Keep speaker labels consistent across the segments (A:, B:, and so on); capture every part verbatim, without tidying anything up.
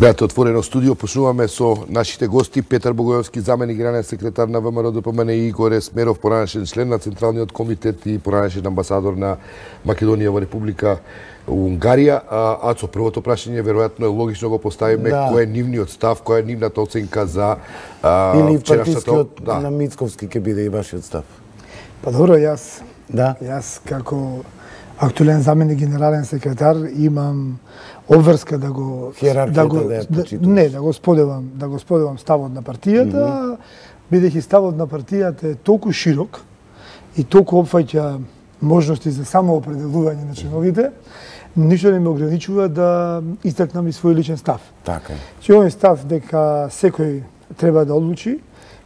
A: Гледате Отворено студио, почнуваме со нашите гости Петар Богојовски, заменик генерален секретар на ВМРО ДПМН, и Игор Есмеров, поранешен член на Централниот комитет и поранешен амбасадор на Македонија во Република Унгарија. Ацо, првото прашање веројатно е логично го поставиме, да. Кој е нивниот став, која е нивната оценка за а,
B: или партискиот да. На Мицковски ќе биде и вашиот став?
C: Па добро, јас,
B: да.
C: Јас како актуелен заменик генерален секретар имам обврска да го да го
B: да,
C: да, не да го споделам, да го споделам ставот на партијата, mm -hmm. бидејќи ставот на партијата е толку широк и толку опфаќа можности за самоопределување на членовите, ништо не ме ограничува да истакнам и свој личен став.
B: Така е.
C: Че овој став дека секој треба да одлучи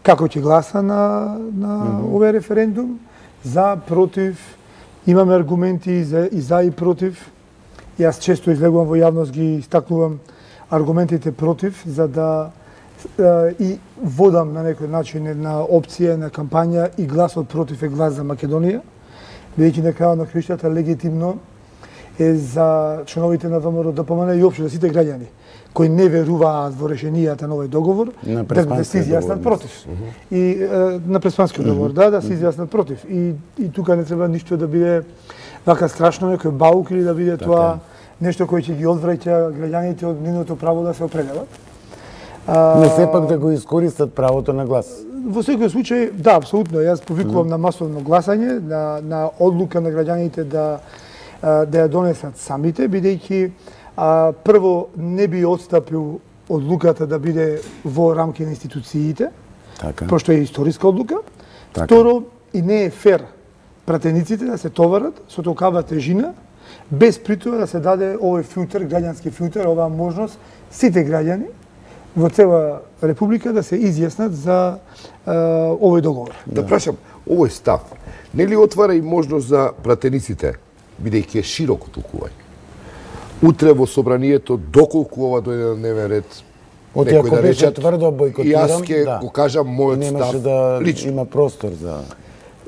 C: како ќе гласа на на mm -hmm. овој референдум, за, против. Имаме аргументи и за и, за, и против. Јас често излегувам во јавност, ги истакнувам аргументите против, за да е, и водам на некој начин една опција, на кампања, и гласот против е глас за Македонија, бидејќи на крајот на краиштата легитимно е за членовите на ВМРО ДПМН и општо за сите граѓани кои не веруваат во решенијата на овој договор,
B: да,
C: да се изјаснат против. Uh -huh. И е, на преспанскиот договор, uh -huh. да, да се изјаснат против. И, и тука не треба ништо да биде вака страшно, некој баук, или да биде така тоа нешто кој ќе ги одвраќа граѓаните од нивното право да се определат.
B: Не сепак да го искористат правото на глас.
C: Во секој случај, да, апсолутно. Јас повикувам mm -hmm. на масовно гласање, на, на одлука на граѓаните да, да ја донесат самите, бидејќи А, прво, не би отстапил одлуката да биде во рамки на институциите,
B: така.
C: Пошто е историска одлука.
B: Така.
C: Второ, и не е фер пратениците да се товарат со толкава тежина, без притоа да се даде овој филтер, граѓански филтер, оваа можност сите граѓани во цела Република да се изјаснат за а, овој договор.
A: Да, да прашам, овој став не ли отвара и можност за пратениците, бидејќи е широко толкување? Утре во собранието, доколку ова дојде на дневен ред,
B: Оти, некој да речат тврдо бойкотирам,
A: јас ќе
B: да.
A: го кажам мојот
B: немаше
A: став
B: да
A: лично.
B: Има простор за...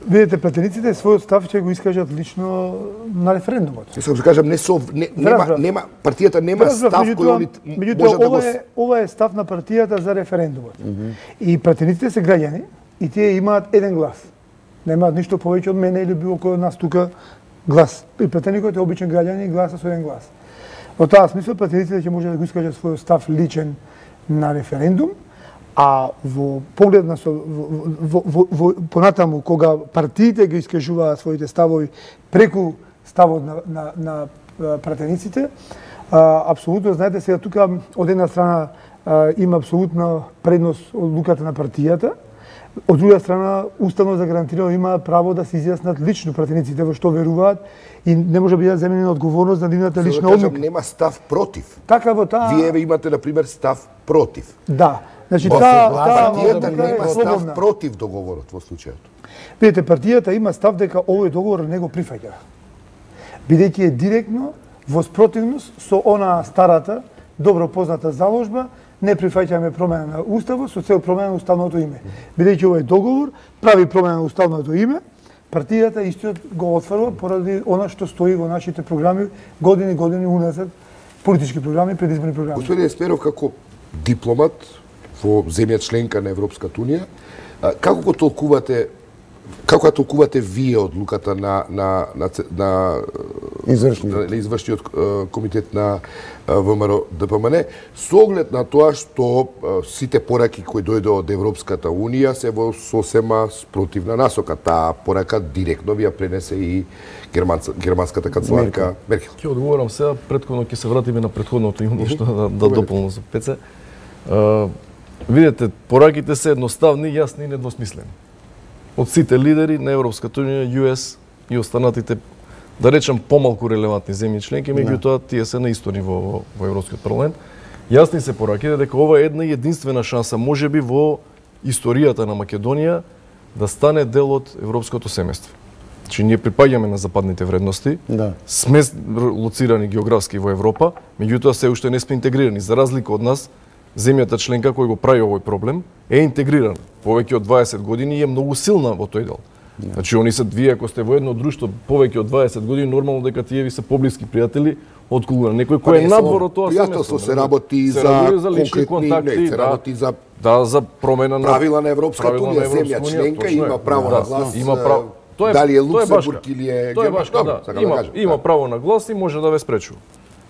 C: Видете, пратениците својот став ќе го искажат лично на референдумот.
A: Јас ќе кажам, не со не, нема нема партијата нема
C: Разбрав,
A: став кој они
C: може да го... Ова е, ова е став на партијата за референдумот. Mm -hmm. И пратениците се граѓани и тие имаат еден глас. Немаат ништо повеќе од мене или било кој од нас тука глас. И пратеникот е обичен граѓани и гласа со еден глас. Во таа смисла, пратениците ќе може да го искажат својот став личен на референдум, а во поглед на со, во, во, во, понатаму, кога партиите ги искажуваат своите ставови преку ставот на, на, на пратениците, а, апсолутно, знаете, сега тука од една страна а, има апсолутна предност одлуката на партијата, од друга страна, уставно загарантирано има право да се изјаснат лично пратениците во што веруваат и не може да биде земена одговорност на нивната лична
A: да кажам,
C: одлука.
A: нема став против.
C: Така во таа...
A: Вие имате, например, став против.
C: Да. Значи,
A: таа
C: таа
A: партијата нема став против договорот во случајот.
C: Видете, партијата има став дека овој договор не го прифаќа. Бидејќи е директно во спротивност со она старата, добро позната заложба, не прифаќаме промена на уставот со цел промена на уставното име. Бидејќи овој договор прави промена на уставното име, партијата истиот го отфрла поради она што стои во нашите програми години години уназад, политички програми, предизборни програми.
A: Господин Есмеров, како дипломат во земја членка на Европската унија, како го толкувате како ја толкувате вие одлуката на на на на
B: извршниот
A: на извршниот комитет на ВМРО ДПМН со оглед на тоа што сите пораки кои дојде од Европската унија се во сосема спротивна насока. Таа порака директно ви ја пренесе и германска, германската канцеларка Меркел.
D: Ќе одговорам сега, претходно ќе се вратиме на претходното имам нешто да, да дополнам за Пеце. Uh, видете, пораките се едноставни, јасни и недвосмислени. Од сите лидери на Европската унија, Ю Ес и останатите, да речем, помалку релевантни земји членки, меѓутоа тие се на исто ниво во, во Европскиот парламент. Јасни се пораките дека ова е една единствена шанса, можеби во историјата на Македонија, да стане дел од европското семејство. Значи, ние припаѓаме на западните вредности,
B: да.
D: Сме лоцирани географски во Европа, меѓутоа се уште не сме интегрирани. За разлика од нас, земјата членка кој го прави овој проблем е интегрирана. Повеќе од дваесет години и е многу силна во тој дел. Значи они се вие ако сте во едно друштво повеќе од дваесет години, нормално дека тие ви се поблиски пријатели отколку некој кој е надвор од тоа
A: пријателство се работи за конкретни контакти, се работи за
D: да за промена на
A: правила на Европската унија, земја членка има право на глас.
D: Има право. Тоа е
A: дали е Луксембург или е
D: Тоа е баш да. Има има право на глас и може да ве спречува.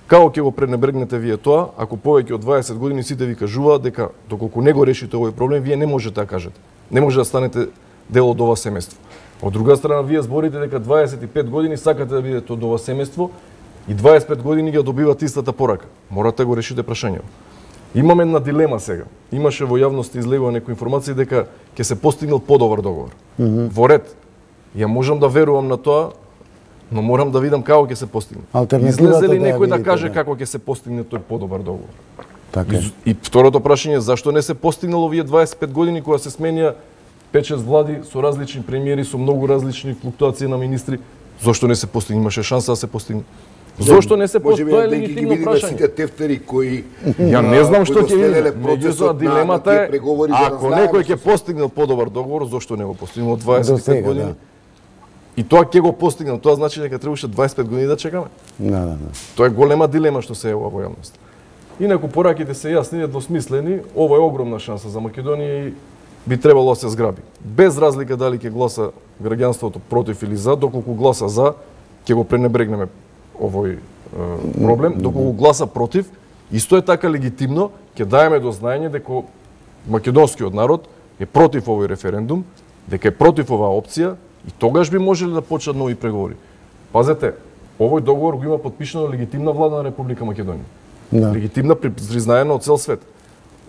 D: Како ќе го пренебрегнете вие тоа, ако повеќе од дваесет години сите ви кажуваат дека доколку не го решите овој проблем, вие не можете да кажете. Не може да станете дел од ова семејство. Од друга страна, вие зборите дека дваесет и пет години сакате да бидете од ова семејство и дваесет и пет години ги добивате истата порака. Морате да го решите прашањето. Имаме една дилема сега. Имаше во јавност излегува некои информации дека ќе се постигнал подобар договор. Mm -hmm. Во ред. Ја можам да верувам на тоа, но морам да видам како ќе се постигне. Излезе ли некој да, да каже да. како ќе се постигне тој подобар договор?
B: Така.
D: И, и второто прашање е зашто не се постигнало овие дваесет и пет години кога се сменија пет-шест влади со различни премиери, со многу различни флуктуации на министри, зошто не се постигне? Имаше шанса да се постигне. Зошто не се постигне? Тоа е легитимно прашање.
A: Сите тефтери кои
D: ја не знам што ќе видиме. Меѓутоа дилемата е ако некој ќе постигнал подобар договор, зошто не го постигнал дваесет и пет години? Да. И тоа ќе го постигнал, тоа значи дека требаше дваесет и пет години да чекаме.
B: Да, да, да.
D: Тоа е голема дилема што се јавува во јавност. Инаку пораките се јасни, недвосмислени, ова е огромна шанса за Македонија и би требало да се зграби. Без разлика дали ќе гласа граѓанството против или за, доколку гласа за, ќе го пренебрегнеме овој е, проблем, доколку гласа против, исто е така легитимно, ќе даеме до знаење дека македонскиот народ е против овој референдум, дека е против оваа опција и тогаш би можеле да почнат нови преговори. Пазете, овој договор го има потпишано легитимна влада на Република Македонија. Да. Легитимна признаена од цел свет.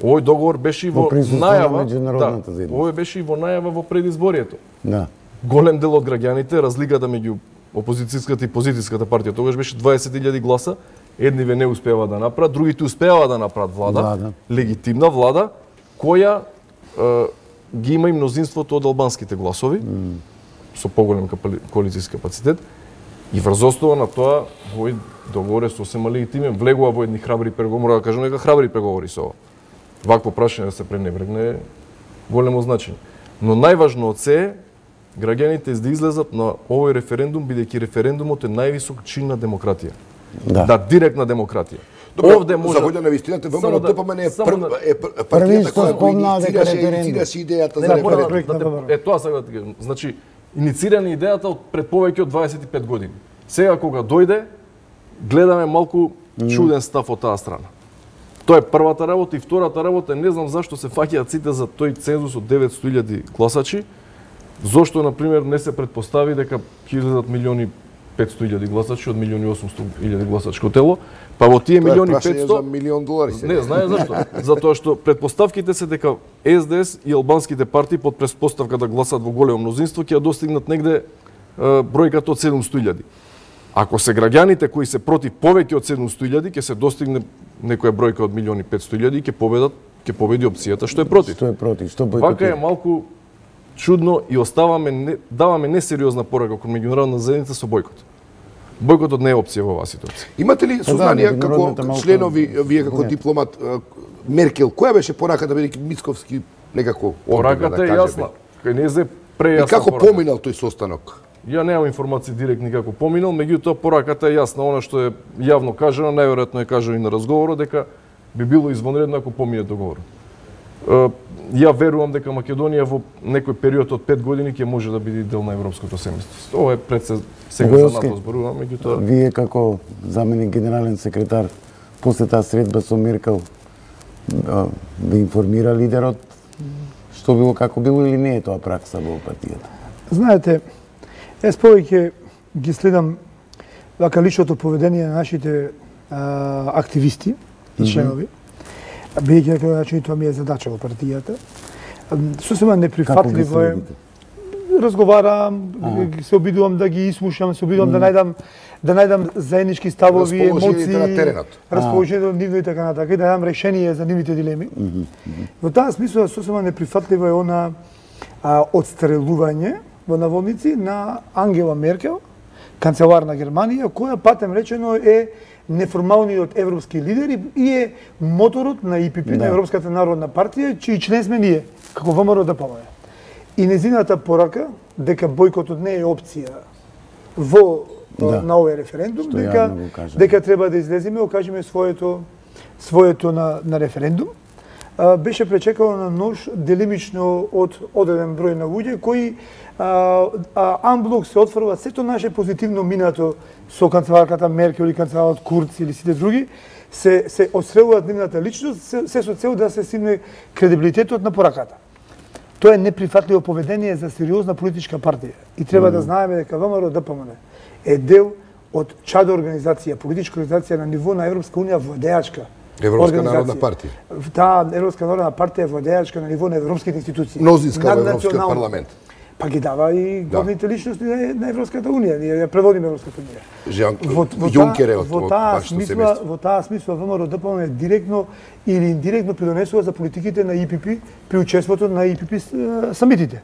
D: Овој договор беше и во, во најава, да, овој беше и во најава во предизборието.
B: Да.
D: Голем дел од граѓаните, разликата меѓу опозицијската и позицијската партија тогаш беше дваесет илјади гласа, едниве не успева да направат, другите успева да направат влада, влада. Легитимна влада, која е, ги има и мнозинството од албанските гласови, mm. со поголем коалицијски капацитет, и врз основа на тоа овој договор е сосема легитимен, влегува во едни храбри преговори, мора да кажам дека храбри преговори со ова. Вакво прашање да се пренебрегне е големо значење. Но најважно од се е граѓаните да излезат на овој референдум, бидејќи референдумот е највисок чин на демократија. Да, да директна демократија.
A: Добре, овде може за волја на вистината, ВМРО ДПМН е партијата која го инициираше идејата за референдум.
D: Е тоа сега да ти кажам. Значи, инициирана идејата од пред повеќе од дваесет и пет години. Сега кога дојде, гледаме малку чуден став од таа страна. Тоа е првата работа и втората работа, не знам зашто се фаќаат сите за тој цензус од деветстотини илјади гласачи. Зошто на пример не се претпостави дека ќе излезат милиони петстотини илјади гласачи од милиони и осумстотини илјади гласачко тело, па во тие милиони и петстотини
A: за милион долари се.
D: Не, знае зашто. Затоа што претпоставките се дека Ес Де Ес и албанските партии под претпоставка да гласат во големо мнозинство ќе ја достигнат негде бројката од седумстотини илјади. Ако се граѓаните кои се против повеќе од седумстотини илјади, ќе се достигне некоја бројка од милиони и петстотини илјади и ќе победат, ќе победи опцијата што е против.
B: Што е против, што бојкотира.
D: Вака е малку чудно и оставаме не, даваме несериозна порака кон меѓународна заедница со бојкот. Бојкотот не е опција во оваа ситуација.
A: Имате ли сознание да, како членови, вие како дипломат, Меркел, која беше пораката бидејќи Мицковски некако
D: пораката да е јасна. Не е прејасна.
A: И како порака. Поминал тој состанок?
D: Ја немам информации директни како поминал, меѓутоа пораката е јасна, она што е јавно кажано, најверојатно е кажано и на разговорот дека би било извонредно ако помине договорот. Ја верувам дека Македонија во некој период од пет години ќе може да биде дел на европското семејство. Ова е пред се, сега за НАТО зборувам, меѓутоа
B: вие како заменик генерален секретар после таа средба со Меркел ви информира лидерот што било, како било или не е тоа пракса во партијата?
C: Знаете, јас повеќе ги следам вака личното поведение на нашите а, активисти и членови. Mm -hmm. Бидејќи на начин тоа ми е задача во партијата. Сосема неприфатливо е. Разговарам, ага. се обидувам да ги ислушам, се обидувам mm. да најдам да најдам заеднички ставови, емоции, расположението нивно и така натака, и да дадам решение за нивните дилеми. Mm -hmm. Во таа смисла сосема неприфатливо е она а, отстрелување во наводници на Ангела Меркел, канцелар на Германија, која патем речено е неформалниот европски лидер и е моторот на И Пи Пи, да. на Европската народна партија, чиј член сме ние, како ВМРО ДПМН. и незината порака дека бојкотот не е опција во да. на овој референдум, што дека дека треба да излеземе, окажеме своето своето на на референдум. А, беше пречекано на нож делимично од одреден број на луѓе кои а, а, амблок се отфрва сето наше позитивно минато со канцеларката Меркел или канцеларот Курц или сите други, се се отстрелуваат нивната личност, се, се со цел да се симне кредибилитетот на пораката. Тоа е неприфатливо поведение за сериозна политичка партија и треба mm. да знаеме дека ВМРО Д П М Н е дел од чадо организација, политичка организација на ниво на Европска унија владеачка.
A: Европска народна партија.
C: Таа Европска народна партија е владеачка на ниво на европските институции.
A: Мнозинска во Европскиот парламент.
C: Па ги дава и главните да. личности на Европската унија. Ние ја преводиме Европската унија.
A: Жан Јункер е од
C: во таа смисла, во таа смисла ВМРО Д П М Н директно или индиректно придонесува за политиките на И Пи Пи при учеството на И Пи Пи самитите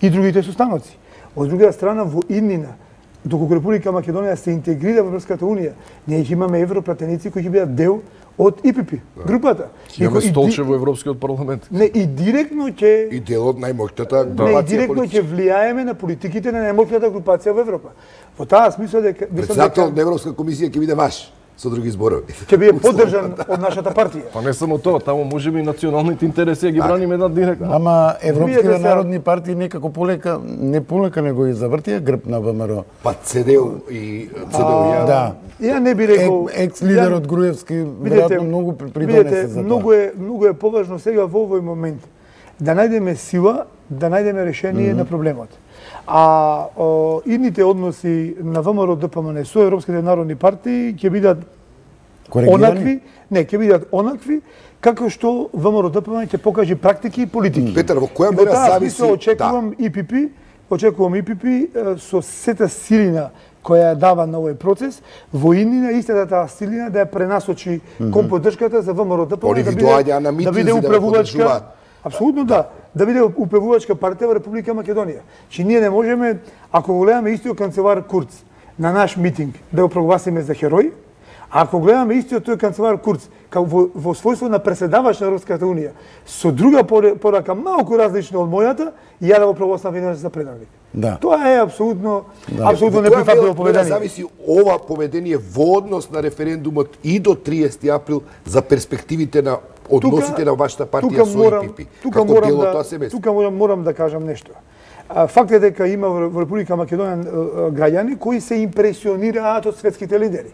C: и другите состаноци. Од друга страна во иднина, доколку Република Македонија се интегрира во Европската унија, ние ќе имаме европратеници кои ќе бидат дел од И Пи Пи, групата.
D: Ќе имаме столче во Европскиот парламент.
C: Не, и директно ќе
A: и дел од најмоќната
C: групација. Не, и директно ќе влијаеме на политиките на најмоќната групација во Европа. Во таа смисла дека
A: председател на Европска комисија ќе биде ваш, со други зборови.
C: Ќе биде поддржан од нашата партија.
D: Па не само тоа, таму можеби и националните интереси ги браниме на директно.
B: Ама европските народни партии некако полека, не полека него и завртија грб на ВМРО.
A: Па Ц Д У и Ц Д У ја.
B: Да.
C: Ја не би рекол
B: екс лидерот Груевски веројатно многу придонесе за тоа.
C: Многу е многу е поважно сега во овој момент да најдеме сила, да најдеме решение mm -hmm. на проблемот. А о, идните односи на ВМРО Д П М Н со европските народни партии ќе бидат онакви, не, ќе бидат онакви како што ВМРО Д П М Н ќе покаже практики и политики.
A: Петар, во која мера зависи?
C: Очекувам да. И Пи Пи, очекувам И Пи Пи со сета силина која ја дава на овој процес, во иднина истата таа силина да ја пренасочи mm -hmm. кон поддршката за ВМРО Д П М Н да биде, да биде управувачка. Апсолутно да, да биде управувачка партија во Република Македонија. Че ние не можеме, ако го гледаме истиот канцелар Курц на наш митинг, да го прогласиме за херој, а ако гледаме истиот тој канцелар Курц како во, во својство на преседавач на Европската унија, со друга порака малку различна од мојата, ја да го прогласам за предавник.
B: Да.
C: Тоа е апсолутно да. апсолутно неприфатливо поведение.
A: Зависи ова поведение во однос на референдумот и до триесети април за перспективите на односите тука, на вашата партија со И Пи Пи.
C: Тука како морам да, тоа се тука морам, морам да кажам нешто. Факт е дека има во Република Македонија граѓани кои се импресионираат од светските лидери.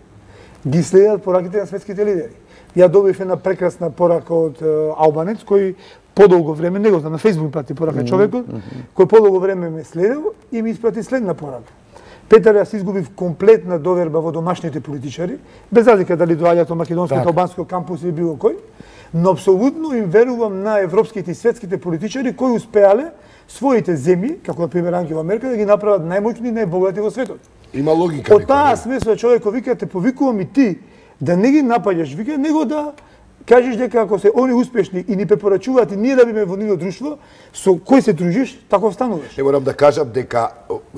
C: Ги следат пораките на светските лидери. Ја добив една прекрасна порака од албанец кој подолго време, не го знам, на Фејсбук прати порака mm -hmm. човекот, кој подолго време ме следел и ми испрати следна порака. Петар, јас изгубив комплетна доверба во домашните политичари, без разлика дали доаѓаат од македонскиот албанскиот кампус или било кој, но апсолутно им верувам на европските и светските политичари кои успеале своите земји, како на пример Ангела Меркел, да ги направат најмоćни и најбогати во светот.
A: Има логика.
C: Од таа смисла човекот вика те повикувам и ти да не ги напаѓаш, вика него да кажеш дека ако се они успешни и ни препорачуваат и ние да биме во нивно друштво, со кој се дружиш, таков стануваш.
A: Не морам да кажам дека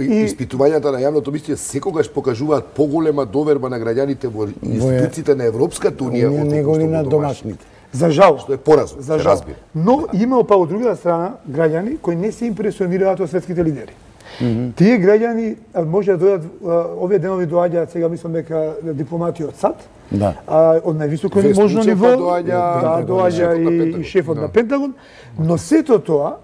A: и... испитувањата на јавното мислење секогаш покажуваат поголема доверба на граѓаните во институциите на Европската унија
B: од негови на домашните.
C: За жал,
A: што е поразно,
C: за жал. Разбира. Но има па од друга страна граѓани кои не се импресионираат од светските лидери. Mm -hmm. Тие граѓани може да дојдат, овие денови доаѓаат, сега мислам дека дипломати од САД,
B: да.
C: а, од највисоко можно ниво, доаѓа, да, доаѓа и, и шефот да. на Пентагон, но сето тоа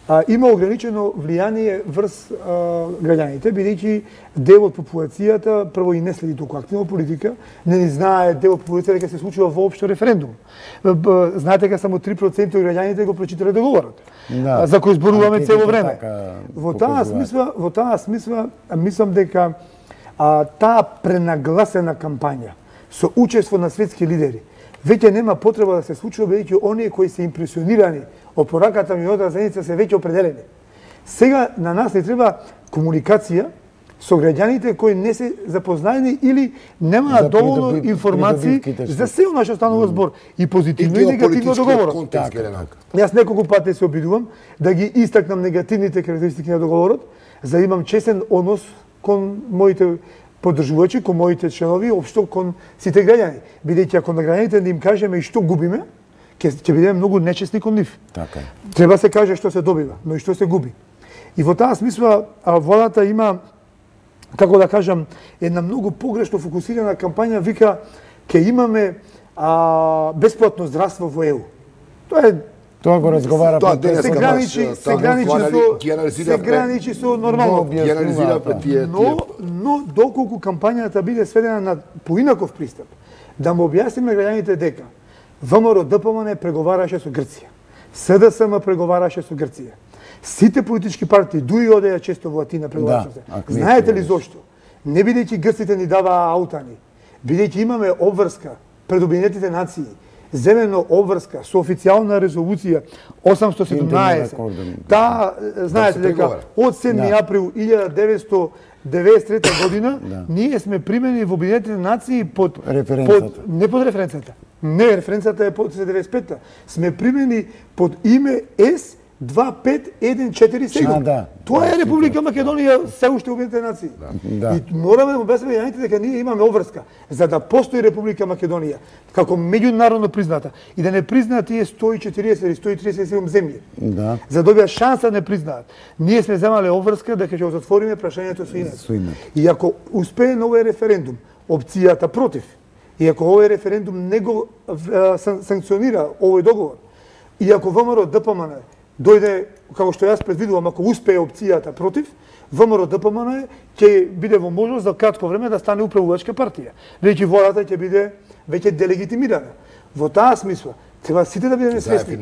C: а, има ограничено влијание врз а, граѓаните, бидејќи дел од популацијата прво и не следи толку активно политика, не ни знае дел од популацијата дека се случува воопшто референдум. Знаете дека само три проценти од граѓаните го прочитале договорот, да. за кој зборуваме цело време. Така, во таа смисла, во таа смисла мислам дека а, таа пренагласена кампања со учество на светски лидери веќе нема потреба да се случува, бидејќи оние кои се импресионирани од пораката минатата седмица се веќе определени. Сега на нас не треба комуникација со граѓаните кои не се запознаени или немаат доволно да информации за се оно што станува збор и позитивно и, и негативно договорот. Јас неколку пати се обидувам да ги истакнам негативните карактеристики на договорот, за да имам честен однос кон моите поддржувачи, кон моите членови, општо кон сите граѓани. Бидејќи ако на граѓаните да им кажеме и што губиме, ќе ќе бидеме многу нечестни кон нив.
B: Така.
C: Треба се каже што се добива, но и што се губи. И во таа смисла владата има, како да кажам, една многу погрешно фокусирана кампања, вика ќе имаме а, бесплатно здравство во Е У. Тоа е
B: Тоа го разговара
A: Тоа
B: пред
A: денес
C: се
A: Дека
C: граничи,
A: баш,
C: се
A: таму
C: граничи
A: анализирав-
C: со се граничи со нормално.
A: Ги анализиравме тие
C: Но, но доколку кампањата биде сведена на поинаков пристап, да му објасниме граѓаните дека ВМРО Д П М Н преговараше со Грција, С Д С М преговараше со Грција, сите политички партии дуи одеа често во Атина преговараше.
B: Да,
C: Знаете ли зошто? Не бидејќи грците ни даваа аутани, бидејќи имаме обврска пред Обединетите нации, земено обврска со официјална резолуција осамстотини и седумнаесет. Таа, знаете дека од седми април илјада деветстотини и деветдесет и трета година
B: Да.
C: ние сме примени во Обединетите нации под
B: Референцата.
C: под не под референцата. Не, референцата е под деветдесет и пета. Сме примени под име С две пет еден четири седум.
B: А, да.
C: Тоа е Република Македонија, се уште Обединетите нации.
B: Да.
C: И мораме да му објасниме јаните дека ние имаме обврска за да постои Република Македонија како меѓународно призната и да не признаат тие сто и четириесет или сто и тридесет и седум земји.
B: Да.
C: За да добија шанса да не признаат. Ние сме земале обврска дека ќе го затвориме прашањето со името.
B: Со името.
C: И ако успее на овој референдум, опцијата против, и ако овој референдум не го а, сан, санкционира овој договор, и ако ВМРО Д П М Н дојде, како што јас предвидувам, ако успее опцијата против, ВМРО Д П М Н ќе биде во можност за кратко време да стане управувачка партија. Веќе владата ќе биде веќе делегитимирана. Во таа смисла, треба сите да бидеме свесни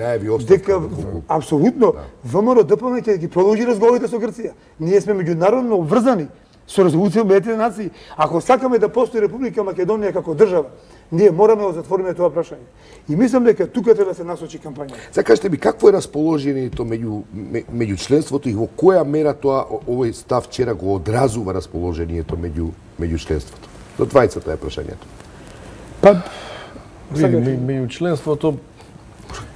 C: дека апсолутно ВМРО Д П М ќе ги продолжи разговорите со Грција. Ние сме меѓународно обврзани со резолуција Обединетите нации. Ако сакаме да постои Република Македонија како држава, ние мораме да затвориме тоа прашање. И мислам дека тука треба да се насочи кампањата.
A: Сега кажете ми, какво е расположението меѓу, меѓу членството и во која мера тоа овој став вчера го одразува расположението меѓу, меѓу членството? До двајцата е прашањето.
C: Па,
D: Види, ме- меѓу членството,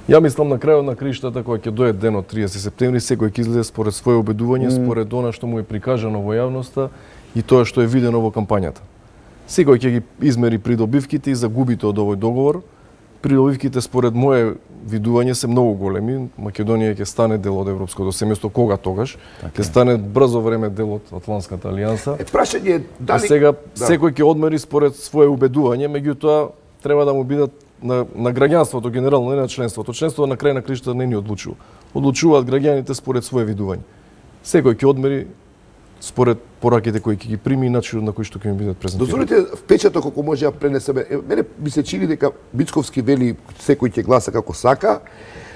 D: ја мислам на крајот на криштата, кога ќе дојде денот триесет септември, секој ќе излезе според своје обедување, според она што му е прикажано во јавноста и тоа што е видено во кампањата. Секој ќе ги измери придобивките и загубите од овој договор. Придобивките според моje видување се многу големи. Македонија ќе стане дел од европското семејство кога тогаш, ќе стане брзо време дел од Атлантската алијанса.
A: Е, прашање е
D: А
A: дали...
D: сега
A: Да.
D: секој ќе одмери според своje убедување, меѓутоа треба да му бидат на, на граѓанството генерално, не на членството. Членството на крај на кришта не ни одлучува. Одлучуваат граѓаните според своje видување. Секој ќе одмери според пораките кои ќе ги прими и начинот на кој што ќе ми бидат презентирани.
A: Дозволите впечаток ако може да пренесеме. Е, мене ми се чини дека Мицковски вели секој ќе гласа како сака,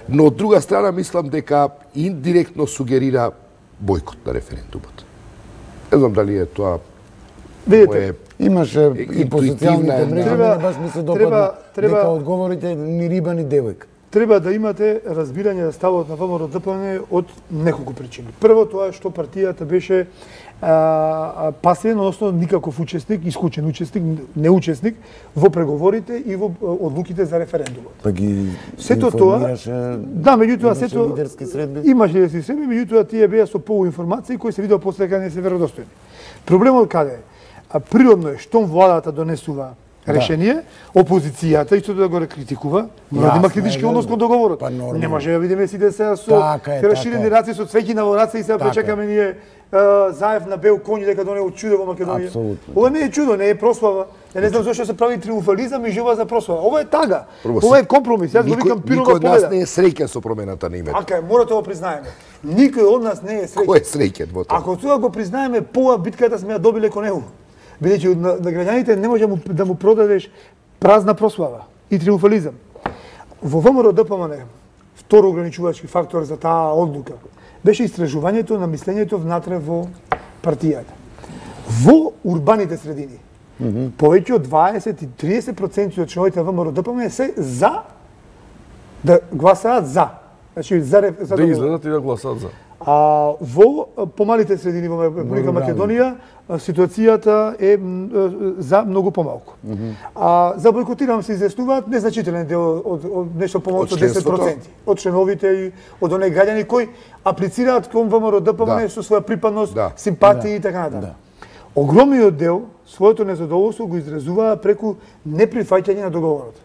A: но од друга страна мислам дека индиректно сугерира бојкот на референдумот. Не знам дали е тоа
C: Видите,
A: мое...
B: Имаше и по
A: интуитивна
B: социјалните
A: една-
B: мрежи,
C: Треба-
B: мене баш ми се допадна
C: треба- треба-
B: дека одговорите ни риба ни девојка.
C: треба да имате разбирање за ставот на ВМРО Д П М Н од неколку причини. Прво тоа е што партијата беше а, а, пасивен, односно никаков учесник, исклучен учесник, неучесник во преговорите и во а, одлуките за референдумот.
B: Па ги
C: Сето тоа,
B: информираше,
C: да, меѓутоа
B: имаше
C: сето
B: лидерски средби.
C: имаше лидерски средби, меѓутоа тие беа со полуинформации кои се видеа после дека не се веродостојни. Проблемот каде е? А природно е штом владата донесува решение, опозицијата исто да го критикува, мора да има
B: Јасно
C: критички
B: е,
C: однос кон договорот.
B: па нормално.
C: Не може да видиме сите сега со
B: Така е,
C: расширени
B: така е.
C: раци со цвеќи на во раце и сега
B: Така
C: пречекаме ние а, Заев на бел коњ дека донесе чудо во Македонија.
B: Апсолутно.
C: Ова не е чудо, не е прослава. Ја не знам зошто се прави триумфализам и жива за прослава. Ова е тага.
A: Прво,
C: Ова е компромис. Јас го
A: Никој,
C: викам
A: никој
C: пирова
A: од нас
C: победа.
A: не е среќен со промената на името.
C: Ака, мора да го признаеме. Никој од нас не е среќен.
A: Кој е среќен во тоа?
C: Ако сега го признаеме, поа битката сме ја добиле кон него. Бидејќи на, на граѓаните не може да му, да му продадеш празна прослава и триумфализам. Во ВМРО Д П М Н, второ ограничувачки фактор за таа одлука, беше истражувањето на мислењето внатре во партијата. Во урбаните средини, mm -hmm. повеќе од дваесет и триесет проценти од членовите на ВМРО Д П М Н се за да гласаат за. Значи за, реф- за
D: Да
C: договор.
D: излезат и да гласаат за.
C: А во а, помалите средини во Република Македонија а, ситуацијата е м, а, за многу помалку. Mm -hmm. А за бојкотирам се изјаснуваат незначителен дел од, од нешто помалку
A: Од
C: од десет
A: членството?
C: проценти од членовите и од оние граѓани кои аплицираат кон ВМРО Д П М Н
A: Да.
C: со своја припадност,
A: Да.
C: симпатии и така натаму. Огромниот дел своето незадоволство го изразуваа преку неприфаќање на договорот.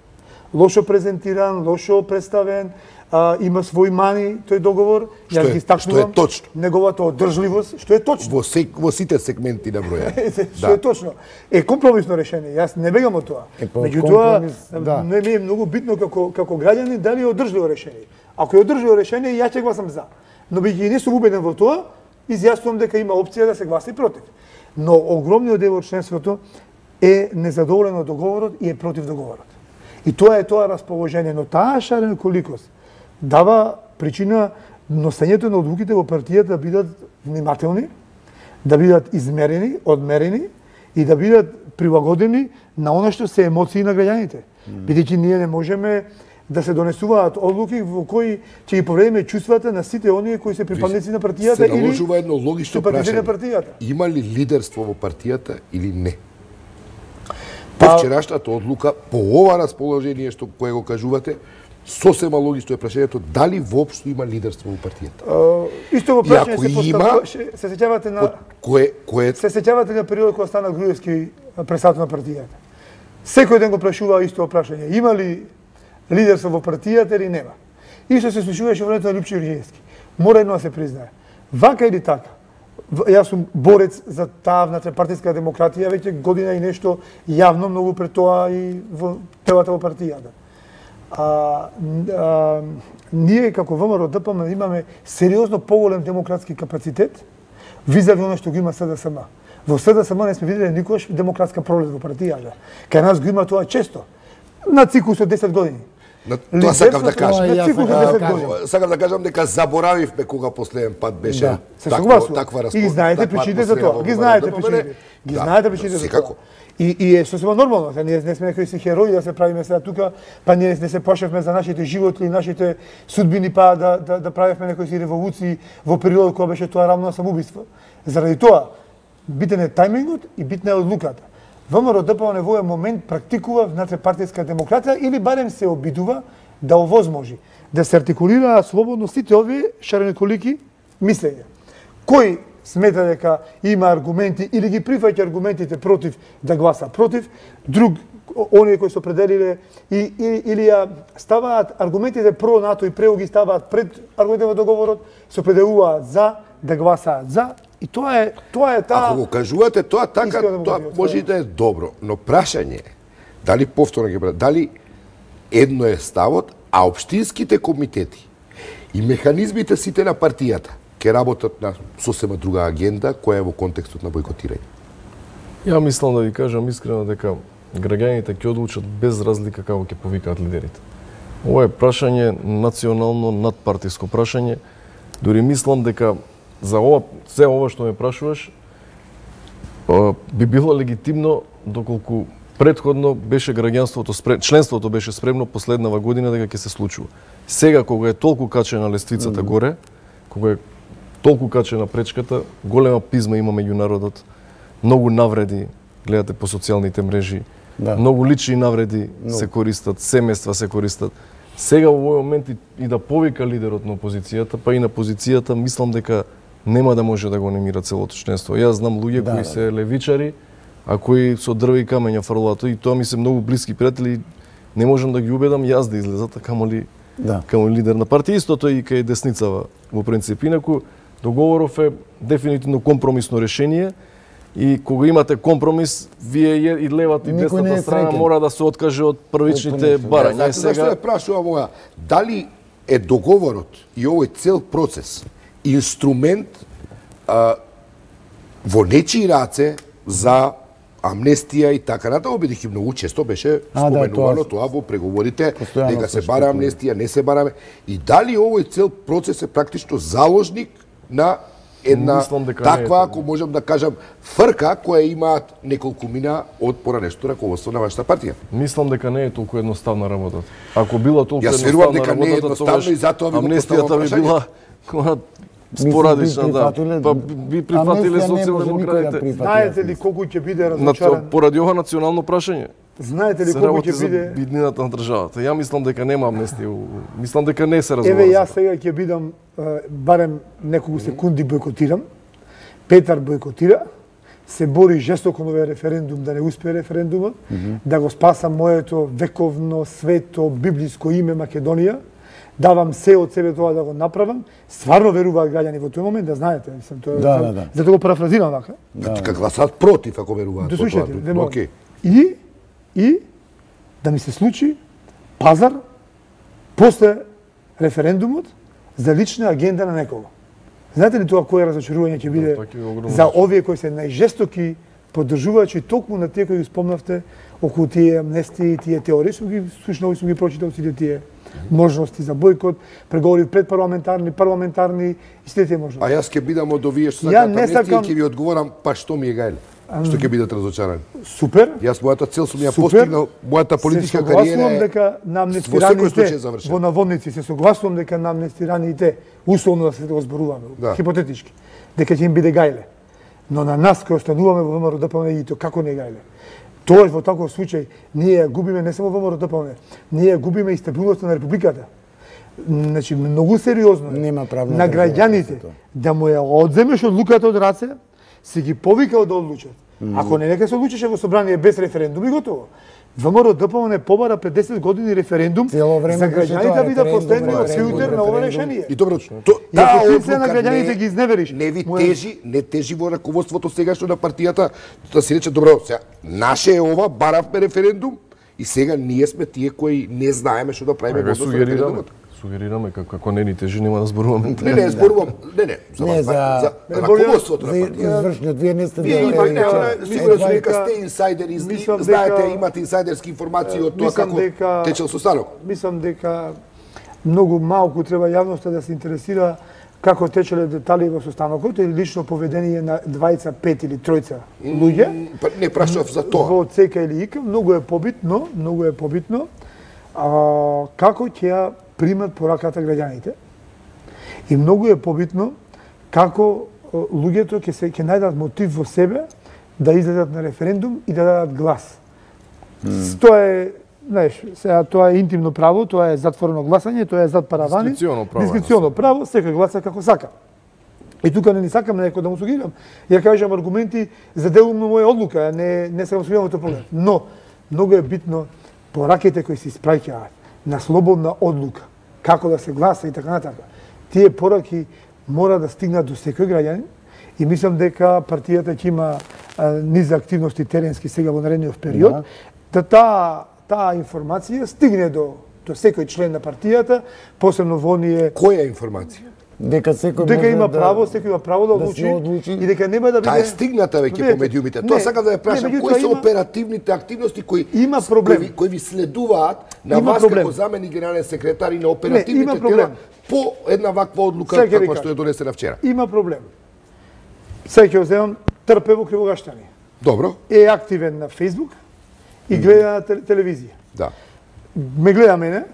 C: лошо презентиран, лошо представен, а, има свои мани тој договор.
A: Што
C: Јас
A: е-
C: ги стакнувам
A: што е точно?
C: неговата одржливост, што е точно.
A: Во, се, во сите сегменти на броја.
C: Што е точно. Е компромисно решение. Јас не бегам од тоа.
B: Е, па,
C: Меѓутоа,
B: компромис, да.
C: не ми е многу битно како како граѓани дали е одржливо решение. Ако е одржливо решение, ја ќе гласам за. Но бијќи не сум убеден во тоа, изјаснувам дека има опција да се гласи против. Но огромниот дел од членството е незадоволен од договорот и е против договорот. И тоа е тоа расположение, но таа шареноколикост дава причина носењето на одлуките во партијата да бидат внимателни, да бидат измерени, одмерени и да бидат прилагодени на она што се емоции на граѓаните. Бидејќи ние не можеме да се донесуваат одлуки во кои ќе ги повредиме чувствата на сите оние кои се припадници на партијата
A: Се
C: или
A: наложува едно логично
C: симпатизери на
A: прашање.
C: партијата.
A: Има ли лидерство во партијата или не?
C: Па-
A: По вчерашната одлука, по ова расположение што кое го кажувате, сосема логично е прашањето дали воопшто има лидерство во партијата.
C: Uh, исто во
A: И
C: прашање
A: ако
C: се
A: има,
C: поставува, се се сеќавате на
A: Од кое кое
C: се сеќавате на периодот кога стана Груевски председател на партијата. Секој ден го прашуваа исто прашање, има ли лидерство во партијата или нема. Исто се случуваше во времето на Лјупчо Јурѓевски. Мора едно да се признае. Вака или така, в- јас сум борец за таа внатре-партијска демократија веќе година и нешто јавно, многу пред тоа и во телата во партијата. А, а, ние како ВМРО Д П М имаме сериозно поголем демократски капацитет визави она што го има С Д С М. Во С Д С М не сме виделе никогаш демократска пролет во партијата. Кај нас го има тоа често. На циклус од десет години.
A: На, тоа сакав да
C: Лидерството
A: кажам.
C: на циклус од десет
B: кажам.
C: години.
A: Сакав да кажам дека заборавивме кога последен пат беше
B: Да,
C: Се
A: таква,
C: согласувам.
A: таква
C: И
A: распо-
C: знаете
A: таква
C: причините за
A: атмосфера
C: тоа.
A: во
C: Ги
A: ВМРО
C: знаете
A: ДПМН.
C: причините. Ги
A: Да,
C: знаете причините за
A: секако.
C: тоа. И, и е сосема нормално, се ние не сме некои си херои да се правиме сега тука, па ние не се плашевме за нашите животи, нашите судбини, па да, да, да правевме некои си револуции во период кога беше тоа рамно на самоубиство. Заради тоа, битен е тајмингот и битна е одлуката. ВМРО Д П М Н во овој момент практикува внатре-партијска демократија или барем се обидува да овозможи да се артикулираат слободно сите овие шареноколики мислења. Кој смета дека има аргументи или ги прифаќа аргументите против да гласа против, друг оние кои се определиле и, и, или ја ставаат аргументите про НАТО и прео ги ставаат пред аргументите во договорот, се определуваат за да гласаат за и тоа е тоа е таа.
A: Ако го кажувате тоа така,
C: Искрено
A: тоа
C: демократија,
A: може и да е добро, но прашање е дали повторно ќе бра- дали едно е ставот, а општинските комитети и механизмите сите на партијата ќе работат на сосема друга агенда која е во контекстот на бојкотирање.
D: Ја мислам да ви кажам искрено дека граѓаните ќе одлучат без разлика како ќе повикаат лидерите. Ова е прашање национално надпартиско прашање. Дури мислам дека за ова се ова што ме прашуваш а, би било легитимно доколку претходно беше граѓанството спрем, членството беше спремно последнава година дека ќе се случува. Сега кога е толку качена лествицата mm -hmm. горе, кога е толку качена пречката, голема пизма има меѓу народот, многу навреди, гледате по социјалните мрежи,
B: Да.
D: многу лични навреди no. се користат, семејства се користат. Сега во овој момент и, и да повика лидерот на опозицијата, па и на позицијата, мислам дека нема да може да го немира целото членство. Јас знам луѓе
B: Да,
D: кои
B: да.
D: се левичари, а кои со дрве и камења фрлаат и тоа ми се многу блиски пријатели, не можам да ги убедам јас да излезат, а камоли
B: Да.
D: камо лидер на партија. Истото и кај десницава во принцип. Инаку, договоров е дефинитивно компромисно решение и кога имате компромис, вие и левата и
B: Никој не
D: десната
B: е
D: страна
B: среќен.
D: мора да се откаже од првичните
B: Од понешто.
D: барања.
A: Знаете
D: Е,
A: зашто
D: сега
A: ја прашувам ова? Дали е договорот и овој цел процес инструмент а, во нечии раце за амнестија и така натаму, бидејќи многу често беше
B: А, да,
A: споменувано
B: тоа-
A: тоа во преговорите,
B: Постојано
A: дека се
B: се
A: бара
B: шпекулира.
A: амнестија, не се бара, и дали овој цел процес е практично заложник на една
D: Мислам дека не е
A: таква,
D: тоа.
A: ако можам да кажам, фрка која имаат неколку мина од поранешното раководство на вашата партија.
D: мислам дека не е толку едноставна работата. Ако била толку
A: Јас верувам
D: едноставна
A: дека не е
D: работата,
A: едноставно
D: тогаш
A: и затоа ви го
D: амнестијата
A: поставувам
D: би била кога спорадична,
B: би
D: да.
B: прифатиле-
D: Па би прифатиле
B: амнестија не може никој да
D: социјалдемократите.
B: прифати.
C: Знаете ли колку ќе биде
D: На
C: разочаран?
D: тоа- поради ова национално прашање.
C: Знаете ли
D: Се
C: колку
D: работи
C: ќе
D: за
C: биде?
D: биднината на државата. Ја мислам дека нема амнестија. Мислам дека не се разговара.
C: Еве
D: за
C: јас
D: тоа.
C: сега ќе бидам е, барем неколку секунди бойкотирам. Петар бойкотира. се бори жестоко на овој референдум да не успее референдумот, mm -hmm. да го спасам моето вековно, свето, библиско име Македонија, давам се од себе тоа да го направам. Стварно веруваат граѓани во тој момент, да знаете, мислам тоа.
B: Да, да, да.
C: За да го парафразирам вака.
A: Да. Дека гласат против ако веруваат во тоа.
C: Дослушайте,
A: Океј.
C: И и да ми се случи пазар после референдумот за лична агенда на некого. Знаете ли тоа кое разочарување ќе биде за овие кои се најжестоки поддржувачи токму на тие кои ги спомнавте околу тие амнестии, тие теории, сум ги слушнал и сум ги прочитал сите тие можности за бойкот, преговори предпарламентарни, парламентарни и сите тие можности.
A: А јас ќе бидам од овие што
C: Ја
A: сакаат
C: не
A: амнестија
C: сакам-
A: и ќе ви одговорам па што ми е гајле. Што ќе бидат разочарани.
C: Супер.
A: Јас мојата цел сум ја
C: Супер.
A: постигнал, мојата политичка
C: Се
A: кариера
C: согласувам
A: е
C: дека на
A: во секој случај
C: амнестираните
A: завршена.
C: во наводници се согласувам дека на амнестираните условно да се го зборуваме,
A: Да.
C: хипотетички, дека ќе им биде гајле. Но на нас кои остануваме во ВМРО ДПМН и то како не е гајле. Тоа во таков случај ние ја губиме не само во ВМРО ДПМН, ние ја губиме и стабилноста на републиката. Значи многу сериозно е
B: Нема правна
C: на
B: држава,
C: граѓаните
B: тоа.
C: да му ја одземеш одлуката од раце, си ги повикал да одлучат. Ако не нека се одлучеше во собрание без референдум и готово. ВМРО ДПМН побара пред десет години референдум
B: Цело време
C: за
B: беше
C: граѓаните
B: тоа,
C: да бидат
B: референдум,
C: последниот
B: референдум,
C: филтер на ова
B: референдум.
C: решение.
A: И добро, то,
C: И
A: таа
C: ако ти се на
A: одлука
C: граѓаните
A: не-
C: ги изневериш,
A: Не ви
C: моја-
A: тежи, не тежи во раководството сегашно на партијата, да се рече добро, сега наше е ова, баравме референдум и сега ние сме тие кои не знаеме што да правиме
D: Ве
A: во однос на
D: сугерираме,
A: референдумот.
D: сугерираме како како не ни тежи нема да зборуваме.
A: Не, не, зборувам, не, не, за,
B: Не,
A: вас,
B: за-
A: за,
C: Не,
A: за
C: болje-
A: раководството на
B: За
A: партијата.
B: извршниот, вие не сте
A: Вие
B: дел-
A: имате,
B: е,
C: дека-
A: е, сигурно
C: мислам
A: сум дека
C: дека-
A: сте инсайдери,
C: мислам
A: знаете,
C: дека-
A: имате инсайдерски информации од тоа
C: Мислам
A: како
C: дека-
A: течел состанок.
C: Мислам дека многу малку треба јавноста да се интересира како течеле детали во состанокот или лично поведение на двајца, пет или тројца луѓе.
A: Па не прашав за тоа.
C: Во ЦК или ИК, многу е побитно, многу е побитно а, како ќе ја примат пораката граѓаните. И многу е побитно како а, луѓето ќе се ќе најдат мотив во себе да излезат на референдум и да дадат глас. Mm. Тоа е, знаеш, сега тоа е интимно право, тоа е затворено гласање, тоа е зад паравани.
D: Дискреционо право,
C: Дискреционо право, секој гласа како сака. И тука не ни сакам на некој да му сугирам. Ја кажам аргументи за делумно моја одлука, не не сакам сугирам во тој поглед. Но многу е битно пораките кои се испраќаат на слободна одлука, како да се гласа и така натака. Тие пораки мора да стигнат до секој граѓанин и мислам дека партијата ќе има а, низ активности теренски сега во наредниот период,
B: Да.
C: да таа таа информација стигне до до секој член на партијата, посебно во оние
A: Која информација?
B: дека секој
C: дека
B: може
C: има
B: да-
C: право, секој има право да
B: да
C: одлучи,
B: се одлучи.
C: и дека нема да биде
A: Таа е стигната веќе
C: Видете,
A: по медиумите.
C: не,
A: Тоа сакам да ја
C: не,
A: прашам,
C: меѓутоа
A: кои се
C: има-
A: оперативните активности кои
C: Има
A: с-
C: проблем.
A: кои, ви- кои ви следуваат на
C: Има
A: вас
C: проблем.
A: како заменик генерален секретар и на
C: има
A: оперативните
C: проблем.
A: тела по една ваква одлука
C: Сега ќе ви
A: каква
C: кажам.
A: што е донесена вчера.
C: Има проблем. Сега ќе го земам Трпе во Кривогаштани.
A: Добро?
C: Е активен на Фејсбук и гледа на тел- телевизија.
A: Да.
C: Ме гледа мене,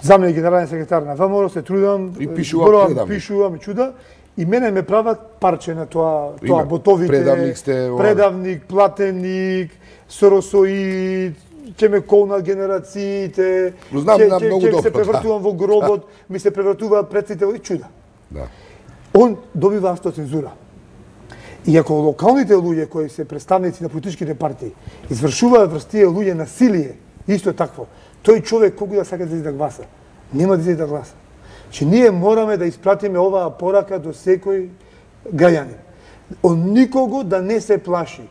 C: заменик генерален секретар на ВМРО, се трудам,
A: И пишува
C: зборувам,
A: предавник.
C: пишувам и чуда, и мене ме прават парче на тоа,
A: Има.
C: тоа ботовите,
A: Предавник сте, ова.
C: предавник, платеник, соросоид, ќе ме колнат генерациите,
A: Го знам,
C: ќе,
A: знам
C: ќе,
A: многу
C: ќе
A: добро,
C: се превртувам
A: да.
C: во гробот, ми се превртуваат предците и чуда.
A: Да.
C: Он добива автоцензура. И ако локалните луѓе кои се представници на политичките партии извршуваат врз тие луѓе насилие, исто такво, тој човек колку да сака да излезе да гласа, нема да излезе да гласа. Че ние мораме да испратиме оваа порака до секој граѓанин. Од никого да не се плаши.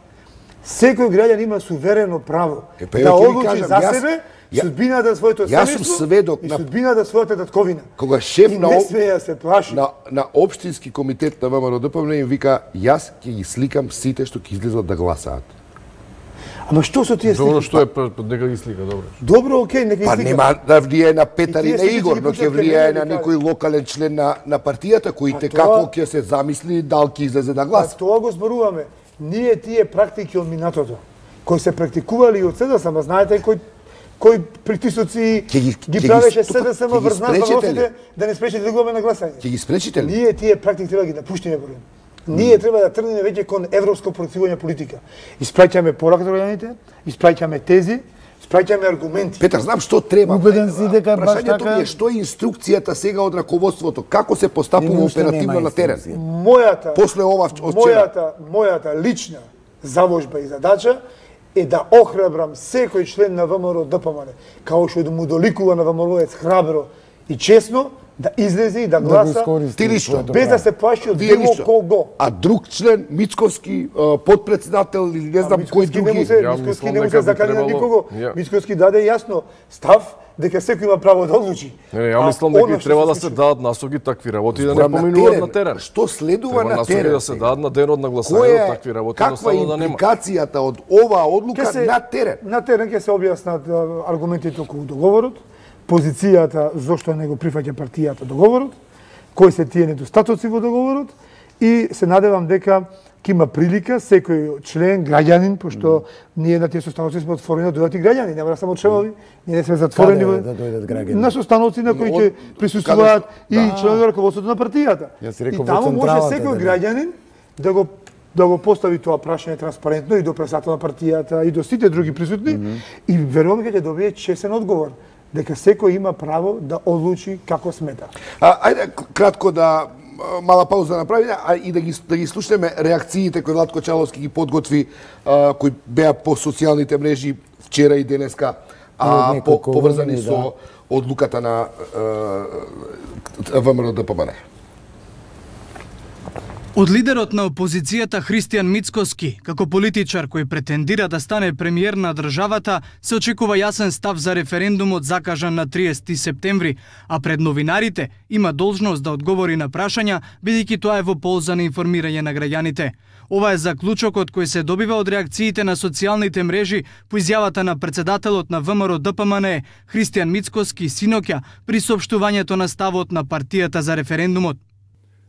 C: Секој граѓанин има суверено право
A: Е, па,
C: да
A: ја ќе ви
C: одлучи
A: кажам,
C: за
A: јас-
C: себе
A: ја-
C: судбината на своето
A: јас сум
C: семејство
A: сведок
C: и
A: на-
C: судбината на својата татковина.
A: Кога шеф
C: И
A: на
C: не
A: об-
C: смее да се плаши.
A: На, на општински комитет на ВМРО ДПМН им вика, јас ќе ги сликам сите што ќе излезат да гласаат.
C: Ама што со тие
D: Добро,
C: слики?
D: што е па- па дека ги слика, добро.
C: Добро, окей, нека
A: Па
C: излика.
A: нема да влијае на Петар
C: И
A: и
C: тие
A: на
C: слики
A: Игор,
C: ги
A: но ќе
C: пуштат кај
A: влијае
C: мене,
A: на
C: да
A: некој локален член на, на партијата, кој
C: Па
A: те
C: тоа-
A: како ќе се замисли дал ќе излезе да
C: Па
A: гласа.
C: тоа го зборуваме. Ние тие практики од минатото, кои се практикували и од СДСМ, ама знаете кој кој притисоци
A: Ќе ги-
C: ги
A: ќе ги-
C: правеше
A: тука-
C: СДСМ
A: ќе ги
C: врз нас
A: спречите ли?
C: въпросите да не спречи да идуваме на гласање.
A: Ќе ги спречите ли?
C: Ние тие практики треба да ги напуштиме борим. Ние треба да тргнеме веќе кон европско проективање политика. Испраќаме порака до граѓаните, испраќаме тези, спраќаме аргументи.
A: Петар, знам што треба.
B: Убеден си дека баш
A: Прашањето
B: така-
A: ми е што е инструкцијата сега од раководството, како се постапува
B: Нема уште
A: оперативно
B: нема
A: на терен.
B: инструкција.
C: Мојата
A: После ова од вчера.
C: мојата мојата лична заложба и задача е да охрабрам секој член на ВМРО ДПМН, као што да му доликува на ВМРО-ец храбро и честно, да излезе и да
B: Да го
C: гласа
B: искористи
A: Ти лично,
B: своето
C: без
B: право.
C: да се плаши од
A: Вие
C: било
A: лично.
C: кого.
A: А друг член, Мицковски, а, подпредседател или не знам кој
C: Мицковски не му
A: други.
C: се,
D: Ја
C: Мицковски
D: мислам
C: не му
D: дека
C: се
D: би
C: закани на
D: требало-
C: никого.
D: Ја.
C: Мицковски даде јасно став дека секој има право да одлучи.
D: Не, не, ја
C: А
D: мислам дека
C: она
D: и
C: што
D: треба
C: се
D: да се
C: случува-
D: дадат насоки такви работи да не
A: Зборам на
D: поминуваат
A: терен.
D: на терен.
A: Што следува
D: Треба
A: на
D: насоки
A: терен?
D: да се дадат на денот на гласање
A: Која
D: од
A: е,
D: такви работи,
A: каква е
D: едноставно да нема.
A: импликацијата од оваа одлука
C: Ќе се-
A: на терен?
C: На терен ќе се објаснат а, аргументите околу договорот, позицијата зошто не го прифаќа партијата договорот, кои се тие недостатоци во договорот и се надевам дека ќе има прилика секој член, граѓанин, пошто ние на тие состаноци сме отворени да дојдат и граѓани, нема да само членови, ние не сме затворени.
B: Каде
C: во-
B: да дојдат граѓани?
C: На состаноци на кои
A: Но,
C: ќе
A: од-
C: присуствуваат
A: каде-
C: и
A: да.
C: членови на раководството на партијата.
B: Јас реков
C: И
B: во
C: таму може
B: централата
C: секој
B: да
C: граѓанин да го да го постави тоа прашање транспарентно и до председател на партијата и до сите други присутни mm -hmm. и верувам дека ќе добие честен одговор дека секој има право да одлучи како смета.
A: А, ајде к- кратко да а, мала пауза направиме, а и да ги да ги слушнеме реакциите кои Владко Чаловски ги подготви, а, кои беа по социјалните мрежи вчера и денеска, а
B: Од
A: по,
B: неколку
A: поврзани
B: години,
A: со одлуката на ВМРО ДПМН.
E: Од лидерот на опозицијата Христијан Мицкоски, како политичар кој претендира да стане премиер на државата, се очекува јасен став за референдумот закажан на триесети септември, а пред новинарите има должност да одговори на прашања, бидејќи тоа е во полза на информирање на граѓаните. Ова е заклучокот кој се добива од реакциите на социјалните мрежи по изјавата на председателот на ВМРО ДПМН Христијан Мицкоски синоќа при соопштувањето на ставот на партијата за референдумот.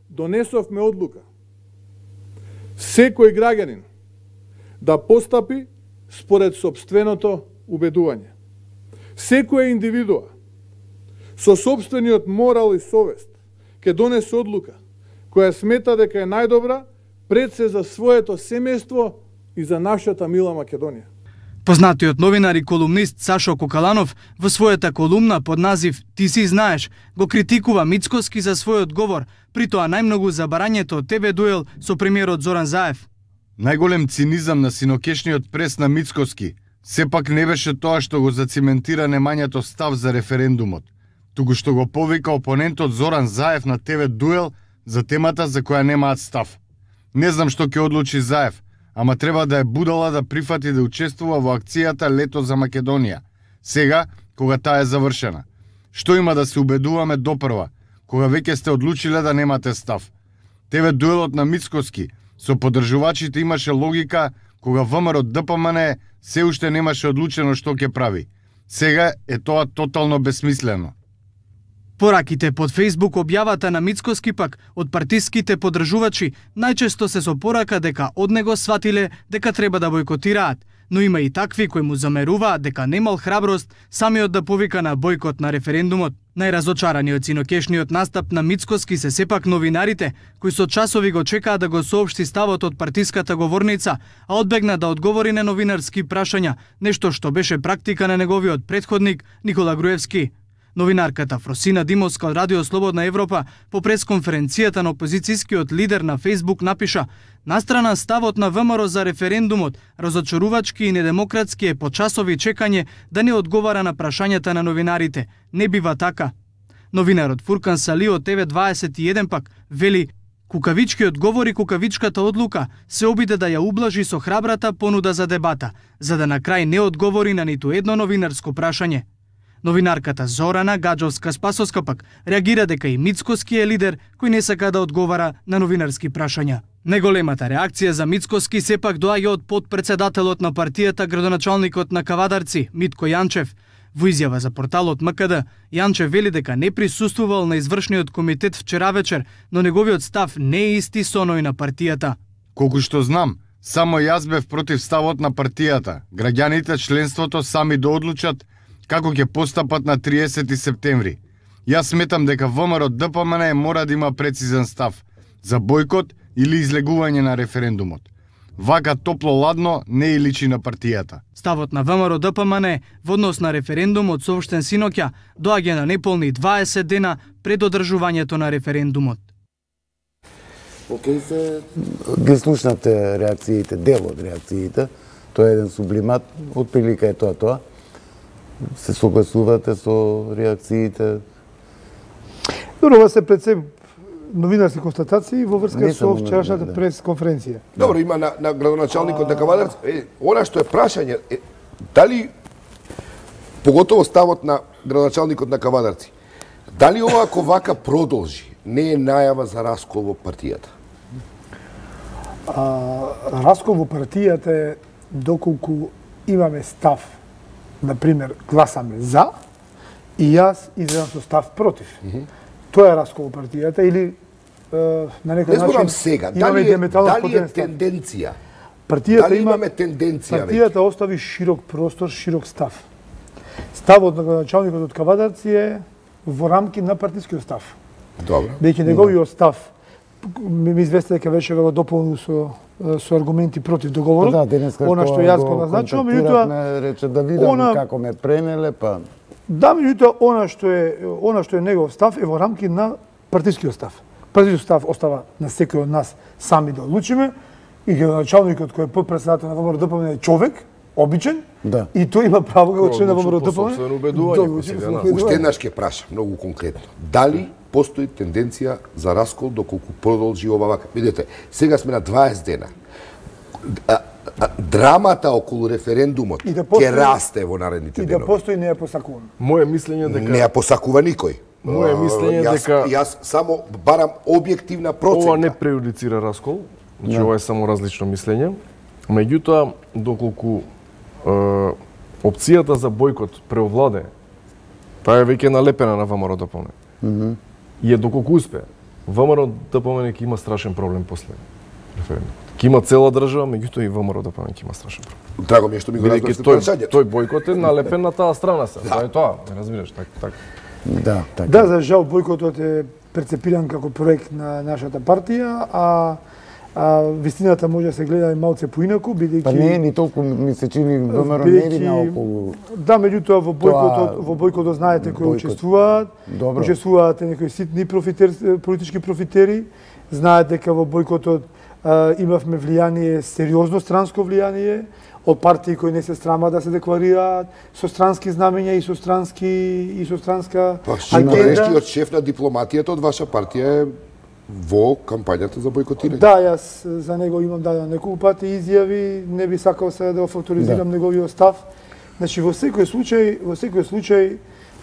F: Донесовме одлука секој граѓанин да постапи според сопственото убедување. Секоја индивидуа со сопствениот морал и совест ќе донесе одлука која смета дека е најдобра пред се за своето семејство и за нашата мила Македонија.
E: Познатиот новинар и колумнист Сашо Кокаланов во својата колумна под назив "Ти си знаеш" го критикува Мицкоски за својот говор, при тоа најмногу за барањето Те Ве дуел со премиерот Зоран Заев.
G: Најголем цинизам на синокешниот прес на Мицкоски сепак не беше тоа што го зациментира немањето став за референдумот, туку што го повика опонентот Зоран Заев на Те Ве дуел за темата за која немаат став. Не знам што ќе одлучи Заев, ама треба да е будала да прифати да учествува во акцијата Лето за Македонија, сега кога таа е завршена. Што има да се убедуваме допрва, кога веќе сте одлучиле да немате став? Те Ве дуелот на Мицкоски со поддржувачите имаше логика кога ВМРО ДПМН се уште немаше одлучено што ќе прави. Сега е тоа тотално бесмислено.
E: Пораките под Фејсбук објавата на Мицкоски пак од партиските поддржувачи најчесто се со порака дека од него сватиле дека треба да бойкотираат, но има и такви кои му замеруваат дека немал храброст самиот да повика на бойкот на референдумот. Најразочарани од синокешниот настап на Мицкоски се сепак новинарите, кои со часови го чекаат да го соопшти ставот од партиската говорница, а одбегна да одговори на новинарски прашања, нешто што беше практика на неговиот претходник Никола Груевски. Новинарката Фросина Димовска од Радио Слободна Европа по пресконференцијата на опозицијскиот лидер на Фејсбук напиша: "Настрана ставот на ВМРО за референдумот, разочарувачки и недемократски е по часови чекање да не одговара на прашањата на новинарите. Не бива така." Новинарот Фуркан Сали од Те Ве дваесет и еден пак вели: "Кукавичкиот говор и кукавичката одлука се обиде да ја ублажи со храбрата понуда за дебата, за да на крај не одговори на ниту едно новинарско прашање." Новинарката Зорана Гаджовска-Спасовска пак реагира дека и Мицкоски е лидер кој не сака да одговара на новинарски прашања. Најголемата реакција за Мицкоски сепак доаѓа од подпредседателот на партијата, градоначалникот на Кавадарци, Митко Јанчев. Во изјава за порталот М К Д, Јанчев вели дека не присуствувал на извршниот комитет вчера вечер, но неговиот став не е исти со оној на партијата.
G: Колку што знам, само јас бев против ставот на партијата. Граѓаните членството сами да одлучат како ќе постапат на триесети септември. Јас сметам дека ВМРО ДПМН мора да има прецизен став за бојкот или излегување на референдумот. Вака топло-ладно не и личи на партијата.
E: Ставот на ВМРО Д П М Н во однос на референдумот соопштен синоќа доаѓа на неполни дваесет дена пред одржувањето на референдумот.
B: Океј се ги слушнате реакциите, дел од реакциите. Тоа е еден сублимат, отприлика е тоа тоа. Се согласувате со реакциите?
C: Добро, ова се пред се новинарски констатации во врска
B: Не
C: со
B: само
C: вчерашната
B: да.
C: прес-конференција.
A: Добро, има на, на градоначалникот на Кавадарци. Е, она што е прашање, е, дали, поготово ставот на градоначалникот на Кавадарци, дали ова ако вака продолжи, не е најава за раскол во партијата?
C: А, раскол во партијата е доколку имаме став, например, гласаме за, и јас излезам со став против. Mm -hmm. Тоа е раскол во партијата или е, на некој
A: Не
C: начин
A: зборам сега,
C: имаме
A: дали е,
C: диаметрално
A: дали е
C: спротивен став.
A: тенденција?
C: Партијата
A: Дали
C: има
A: имаме тенденција
C: партијата
A: веќе?
C: остави широк простор, широк став. Ставот на градоначалникот од Кавадарци е во рамки на партискиот став.
A: Добро.
C: Бидејќи неговиот став ми ми извести дека беше го дополнил со со аргументи против договорот.
B: Да, денеска
C: она што јас го назначувам, меѓутоа
B: рече да видам
C: она-
B: како ме пренеле, па
C: да, меѓутоа она што е она што е негов став е во рамки на партискиот став. Партискиот став остава на секој од нас сами да одлучиме и градоначалникот кој е подпредседател на ВМРО Д П М Н е човек, обичен,
B: Да.
C: и тој има право како член на ВМРО Д П М Н.
D: собствено убедување,
C: да
D: кој
C: одлучи
D: сега,
C: по
D: да.
C: свој
A: Уште
C: убедување.
A: еднаш ќе праша, многу конкретно. Дали постои тенденција за раскол доколку продолжи ова вака? Видете, сега сме на дваесет дена. А, а, драмата околу референдумот
C: И да
A: ќе
C: постои-
A: расте во наредните
C: И да
A: денови.
C: постои не е посакувано.
D: Моje мислење дека
A: Не ја посакува никој.
D: Моje мислење
A: јас,
D: дека-
A: јас само барам објективна проценка.
D: ова не прејудицира раскол, значи ова е само различно мислење. Меѓутоа, доколку е, опцијата за бојкот преовладе, таа е веќе налепена на ВМРО Д П М Н. И е доколку успе, ВМРО Д П М Н ќе има страшен проблем после референдумот. Ќе има цела држава, меѓутоа и ВМРО Д П М Н ќе има страшен проблем.
A: Драго ми е што ми го
D: Бидејќи
A: разбраш
D: тој,
A: прашањето.
D: тој бојкот е налепен на таа страна се. Тоа е тоа, ме разбираш, така така.
B: да, така.
C: Да, за жал бојкотот е перцепиран како проект на нашата партија, а а вистината може да се гледа и малце поинаку, бидејќи
B: Па не е ни толку, ми се чини ВМРО не ви наоколу.
C: Да, меѓутоа во бојкотот, во бојкотот знаете кои
B: бојкот.
C: учествуваат.
B: Добро.
C: Учествуваат некои ситни профитер, политички профитери. Знаете дека во бојкотот а, имавме влијание, сериозно странско влијание од партии кои не се срама да се декларираат со странски знамења и со странски и со странска
A: Па шикорешкиот шеф на дипломатијата од ваша партија е во кампањата за бојкотирање.
C: Да, јас за него имам дадено неколку пати изјави, не би сакал сега да го факторизирам
B: Да.
C: неговиот став. Значи во секој случај, во секој случај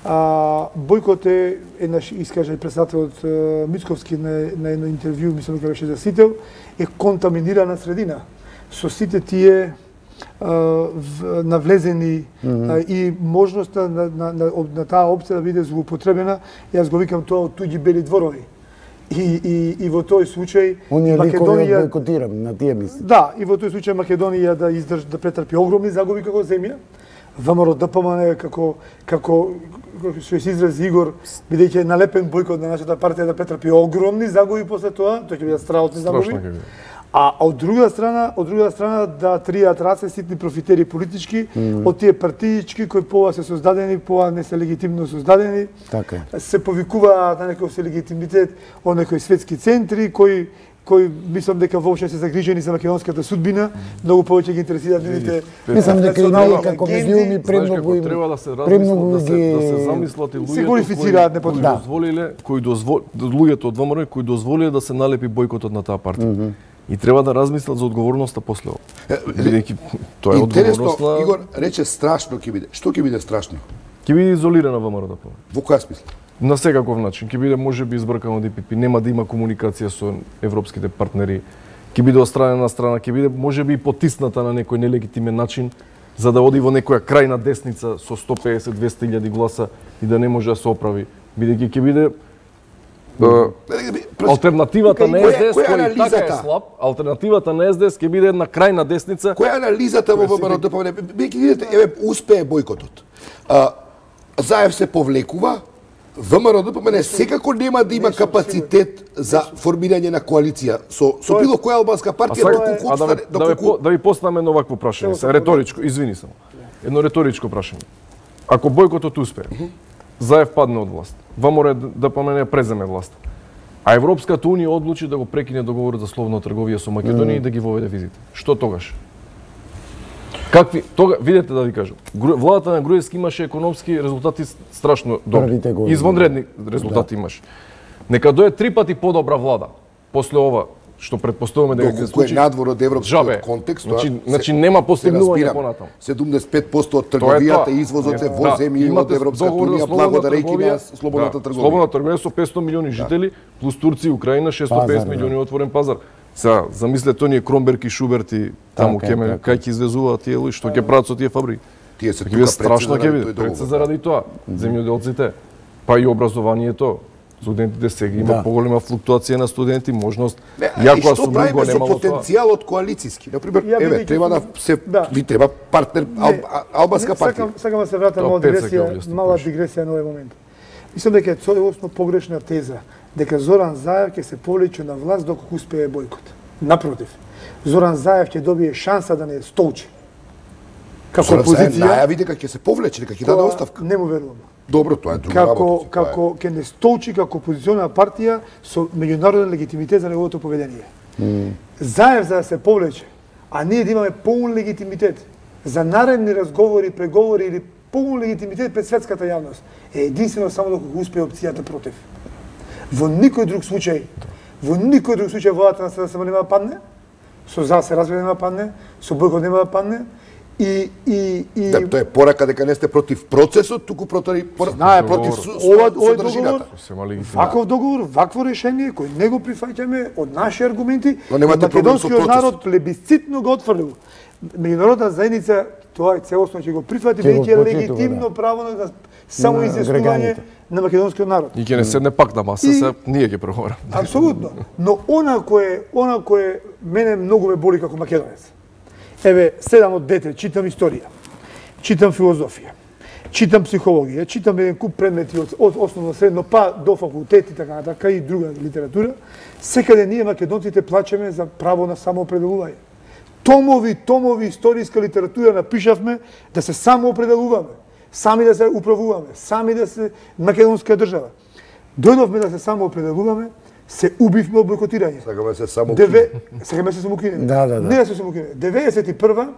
C: а, бојкот е еднаш искажа и председателот е, Мицковски на, на едно интервју, мислам дека беше за Сител, е контаминирана средина со сите тие а, в, навлезени mm -hmm. а, и можноста на, на, на, на таа опција да биде злоупотребена, јас го викам тоа од туѓи бели дворови. И, и, и во тој случај
B: Оние ликови
C: Македонија
B: бойкотирам, на тие мисли.
C: да, и во тој случај Македонија да издрж да претрпи огромни загуби како земја. ВМРО Д П М Н како како како што се изрази Игор, бидејќи е налепен бојкот на нашата партија да претрпи огромни загуби после тоа, тоа ќе бидат страхотни загуби.
D: Страшно ќе биде.
C: А од друга страна, од друга страна да тријат раце ситни профитери политички mm. од тие партиички кои пова се создадени, пова не се легитимно создадени.
B: Така е.
C: Се повикуваат на некој се легитимитет од некои светски центри кои кои мислам дека воопшто се загрижени за македонската судбина, многу повеќе ги интересираат нивните
B: Мислам дека и
C: национални
B: ние како
C: агенди.
B: медиуми
D: Знаеш
B: премногу
D: како
B: им
D: треба да се
B: премногу
D: размислат, да се,
B: ги
D: да се замислат и луѓето
C: се глорифицираат
D: кои,
C: непотребно.
D: кои дозволиле, кои дозвол, луѓето од ВМРО кои дозволиле да се налепи бојкотот на таа партија. Mm -hmm. И треба да размислат за одговорноста после ова. Бидејќи тоа е
A: Интересно,
D: одговорност на...
A: Игор рече страшно ќе биде. Што ќе биде страшно?
D: Ќе биде изолирана ВМРО Д П М Н.
A: Во која смисла?
D: На секаков начин. Ќе биде можеби избркано Д П П, нема да има комуникација со европските партнери. Ќе биде остранена на страна, ќе биде можеби и потисната на некој нелегитимен начин за да оди во некоја крајна десница со сто песет до двесте илјади гласа и да не може да се оправи. Бидејќи ќе биде алтернативата на С Д С кој така е слаб, алтернативата на С Д С ќе биде една крајна десница.
A: Која е анализата во ВМРО Д П М Н? Бидејќи видите, еве успее бојкотот. А, Заев се повлекува, ВМРО-ДПМН секако нема да има капацитет за формирање на коалиција со со било која албанска партија доколку
D: а да ви, да ви, да ви поставиме едно вакво прашање, се реторичко, извини само. Едно реторичко прашање. Ако бојкотот успее, Заев падне од власт, ВМРО-ДПМН преземе власт, а Европската унија одлучи да го прекине договорот за слободна трговија со Македонија mm. и да ги воведе визите. Што тогаш? Какви тога видете да ви кажам. Владата на Груевски имаше економски резултати страшно добри. Извонредни резултати да. имаше. Нека дое три пати подобра влада после ова што предпоставуваме дека ќе се случи.
A: Кој е надвор од европскиот контекст,
D: значи, значи нема постигнување понатаму.
A: седумдесет и пет проценти од трговијата и извозот е во земји од Европската унија благодарејќи на слободната трговија.
D: Слободна трговија со петстотини милиони жители, плюс Турција и Украина шестоста и педесет милиони отворен пазар. Сега, замислете оние Кромберг и Шуберт и таму ке ме кај ќе извезуваат тие луѓе, што ќе прават со тие фабрики.
A: Тие се
D: тука страшно ќе биде, пред се заради тоа, земјоделците, па и образованието. Студентите сега има да. поголема флуктуација на студенти, можност.
A: Јако што правиме со потенцијалот коалициски? На пример, еве, треба да се да. ви треба партнер ал, албанска партија.
C: Сакам, сакам да се вратам мала дигресија, мала дигресија на овој момент. Мислам дека е целосно погрешна теза дека Зоран Заев ќе се повлече на власт доколку успее бојкот. Напротив, Зоран Заев ќе добие шанса да не столчи.
A: Како Зоран позиција, најави дека ќе се повлече, дека ќе даде оставка.
C: Не му верувам.
A: Добро, тоа е друга
C: како,
A: работа.
C: Како ќе не столчи како опозициона партија со меѓународен легитимитет за неговото поведение. Mm. Заев за да се повлече, а ние да имаме полн легитимитет за наредни разговори, преговори или полн легитимитет пред светската јавност, е единствено само доколку успее опцијата против. Во никој друг случај, во никој друг случај владата на СДСМ нема да падне, со за се разбира нема да падне, со бојкот нема да падне, и и и
A: да, тоа е порака дека не сте против процесот, туку против
C: Знае,
A: против
C: ова овој договор, ваков договор, вакво решение кој не го прифаќаме од наши аргументи, македонскиот народ плебисцитно го отфрлил. Меѓународна заедница тоа е целосно ќе го прифати, бидејќи е легитимно да. право на само изјаснување на македонскиот народ.
D: И ќе не седне пак на маса, и... се ние ќе преговораме.
C: Апсолутно. Но она кое она кое мене многу ме боли како македонец. Еве, седам од дете, читам историја, читам филозофија, читам психологија, читам еден куп предмети од, од основно средно па до факултет и така натака и друга литература. Секаде ние македонците плачеме за право на самоопределување. Томови, томови историска литература напишавме да се самоопределуваме, сами да се управуваме, сами да се македонска држава. Дојдовме да се самоопределуваме, се убивме од бойкотирање.
A: Сакаме се само Деве...
C: Сакаме се самоукинеме.
B: Да, да, да.
C: Не да се самоукинеме. деветдесет и прва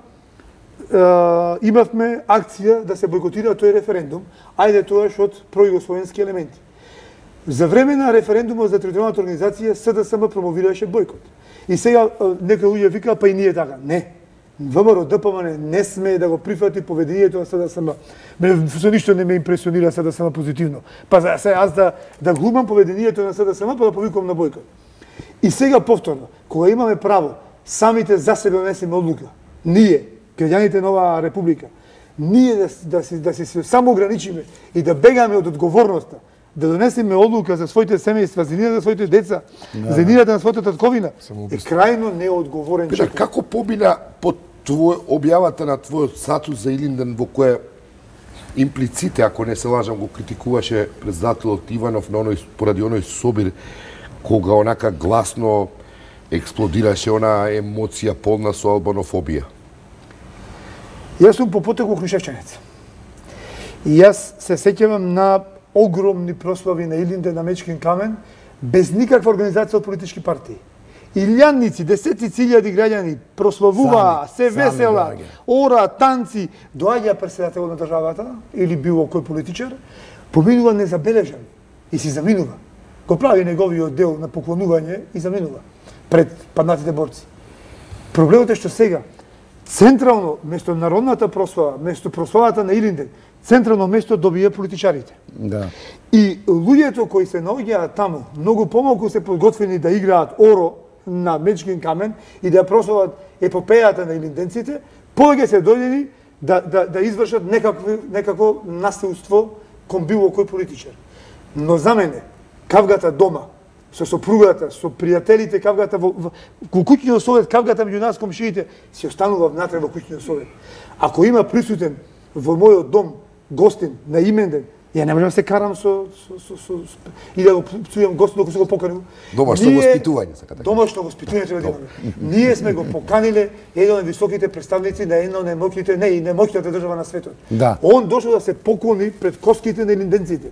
C: имавме акција да се бойкотира тој референдум, ајде тоаш од пројугословенски елементи. За време на референдумот за територијалната организација СДСМ промовираше бойкот. И сега некои луѓе викаа па и ние така. Не. ВМРО-ДПМН не смее да го прифати поведението на СДСМ. Мене со ништо не ме импресионира СДСМ позитивно. Па за се аз да да глумам поведението на СДСМ па да повикувам на бојкот. И сега повторно, кога имаме право самите за себе донесеме одлука, ние, граѓаните на оваа република, ние да да се да се само ограничиме и да бегаме од одговорноста, да донесеме одлука за своите семејства, за нивните за своите деца, да, за нивната на својата татковина, е крајно неодговорен човек.
A: Како побина под твој објавата на твојот статус за Илинден во која имплиците, ако не се лажам, го критикуваше председателот Иванов на оној поради оној собир кога онака гласно експлодираше она емоција полна со албанофобија?
C: Јас сум по потекло крушевчанец. И јас се сеќавам на огромни прослави на Илинден, на Мечкин камен, без никаква организација од политички партии. Илјадници, десетици илјади граѓани прославуваа, се весела, ора, танци, доаѓа председател на државата или било кој политичар, поминува незабележан и си заминува. Го прави неговиот дел на поклонување и заминува пред паднатите борци. Проблемот е што сега централно место народната прослава, место прославата на Илинден, централно место добија политичарите.
B: Да.
C: И луѓето кои се наоѓаат таму, многу помалку се подготвени да играат оро на Мечкин камен и да прослават епопејата на илинденците, повеќе се дојдени да, да, да извршат некакво, некакво насилство кон било кој политичар. Но за мене, кавгата дома, со сопругата, со пријателите, кавгата во, во, во куќниот совет, кавгата меѓу нас комшиите, си останува внатре во куќниот совет. Ако има присутен во мојот дом гостин на Именден Ја не можам да се карам со со со, со, со и да го пцујам гостот докато се го поканил.
A: Домашно воспитување сакате.
C: Домашно воспитување треба да имаме. Ние сме го поканиле еден од високите представници на една од најмоќните, не и најмоќната држава на светот.
B: Да.
C: Он дошол да се поклони пред коските на линденците.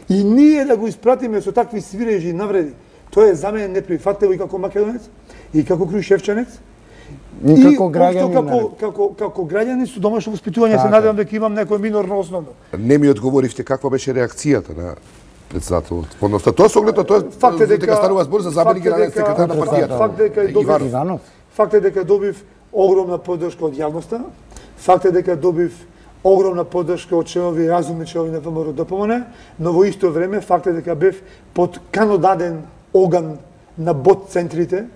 C: И ние да го испратиме со такви свирежи и навреди. Тоа е за мене неприфатливо и како македонец, и како крујшевчанец.
B: И како граѓани,
C: како, како, како граѓани со домашно воспитување се надевам дека имам некој минорно основно.
A: Не ми одговоривте каква беше реакцијата на председателот. Односно, тоа со оглед на тоа
C: факт е дека
A: станува збор за заменик генерален секретар на партијата.
C: Факт е дека добив, факт е дека добив огромна поддршка од јавноста. Факт е дека добив огромна поддршка од членови, разумни членови на ВМРО-ДПМН, но во исто време факт е дека бев под канодаден оган на бот центрите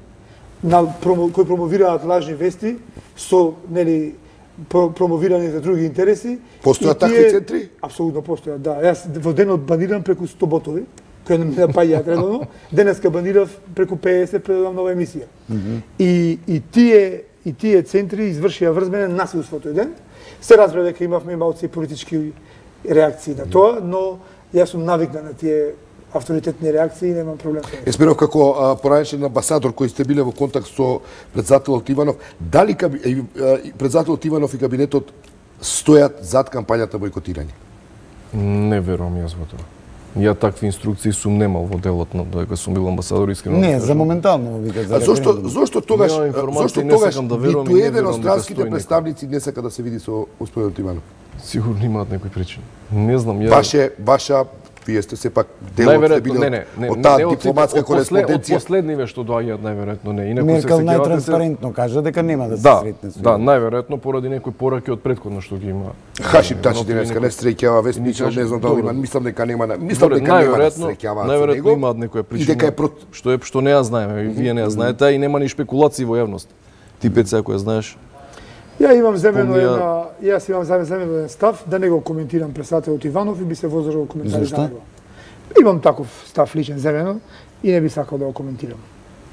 C: на промо, кои промовираат лажни вести со нели про, промовирани за други интереси.
A: Постојат такви центри?
C: Апсолутно постојат, да. Јас во денот банирам преку сто ботови, кои не напаѓаат редовно. Денеска банирав преку педесет предавам нова емисија. Mm -hmm. И и тие и тие центри извршија врз мене насилство тој ден. Се разбра дека имавме малци политички реакции на тоа, но јас сум навикнат на тие авторитетни реакции и немам проблем со тоа.
A: Есмиров, како поранешен амбасадор кој сте биле во контакт со председателот Иванов, дали председателот Иванов и кабинетот стојат зад кампањата бојкотирање?
D: Не верувам јас во тоа. Ја такви инструкции сум немал во делот на дека сум бил амбасадор, искрено.
B: Не, за моментално вика за.
A: А зошто зошто тогаш зошто тогаш
D: да
A: ниту еден од странските представници не сака да се види со господинот Иванов?
D: Сигурно имаат некои причини. Не знам, ја
A: Ваше ваша вие сте сепак дел од били
D: не, не, не,
A: од таа
D: не,
A: дипломатска кореспонденција.
D: Од последниве што доаѓаат најверојатно не. Инаку
B: Меркел
D: се
B: најтранспарентно кажа дека нема да се
D: да,
B: сретне со.
D: Да, најверојатно поради некои пораки од претходно што ги има.
A: Хашим Тачи денеска не среќава Веспичо, не знам дали има, мислам дека нема, мислам дека нема да среќаваат.
D: Најверојатно имаат некоја причина.
A: И дека е прот...
D: што е што не ја знаеме, и вие не ја знаете, и нема ни шпекулации во јавност. Ти Пеце, ако ја знаеш.
C: Ја имам земено
D: Помнија...
C: една, јас имам земено еден став да не го коментирам председателот Иванов и би се воздржал коментари за него. Имам таков став личен земено и не би сакал да го коментирам.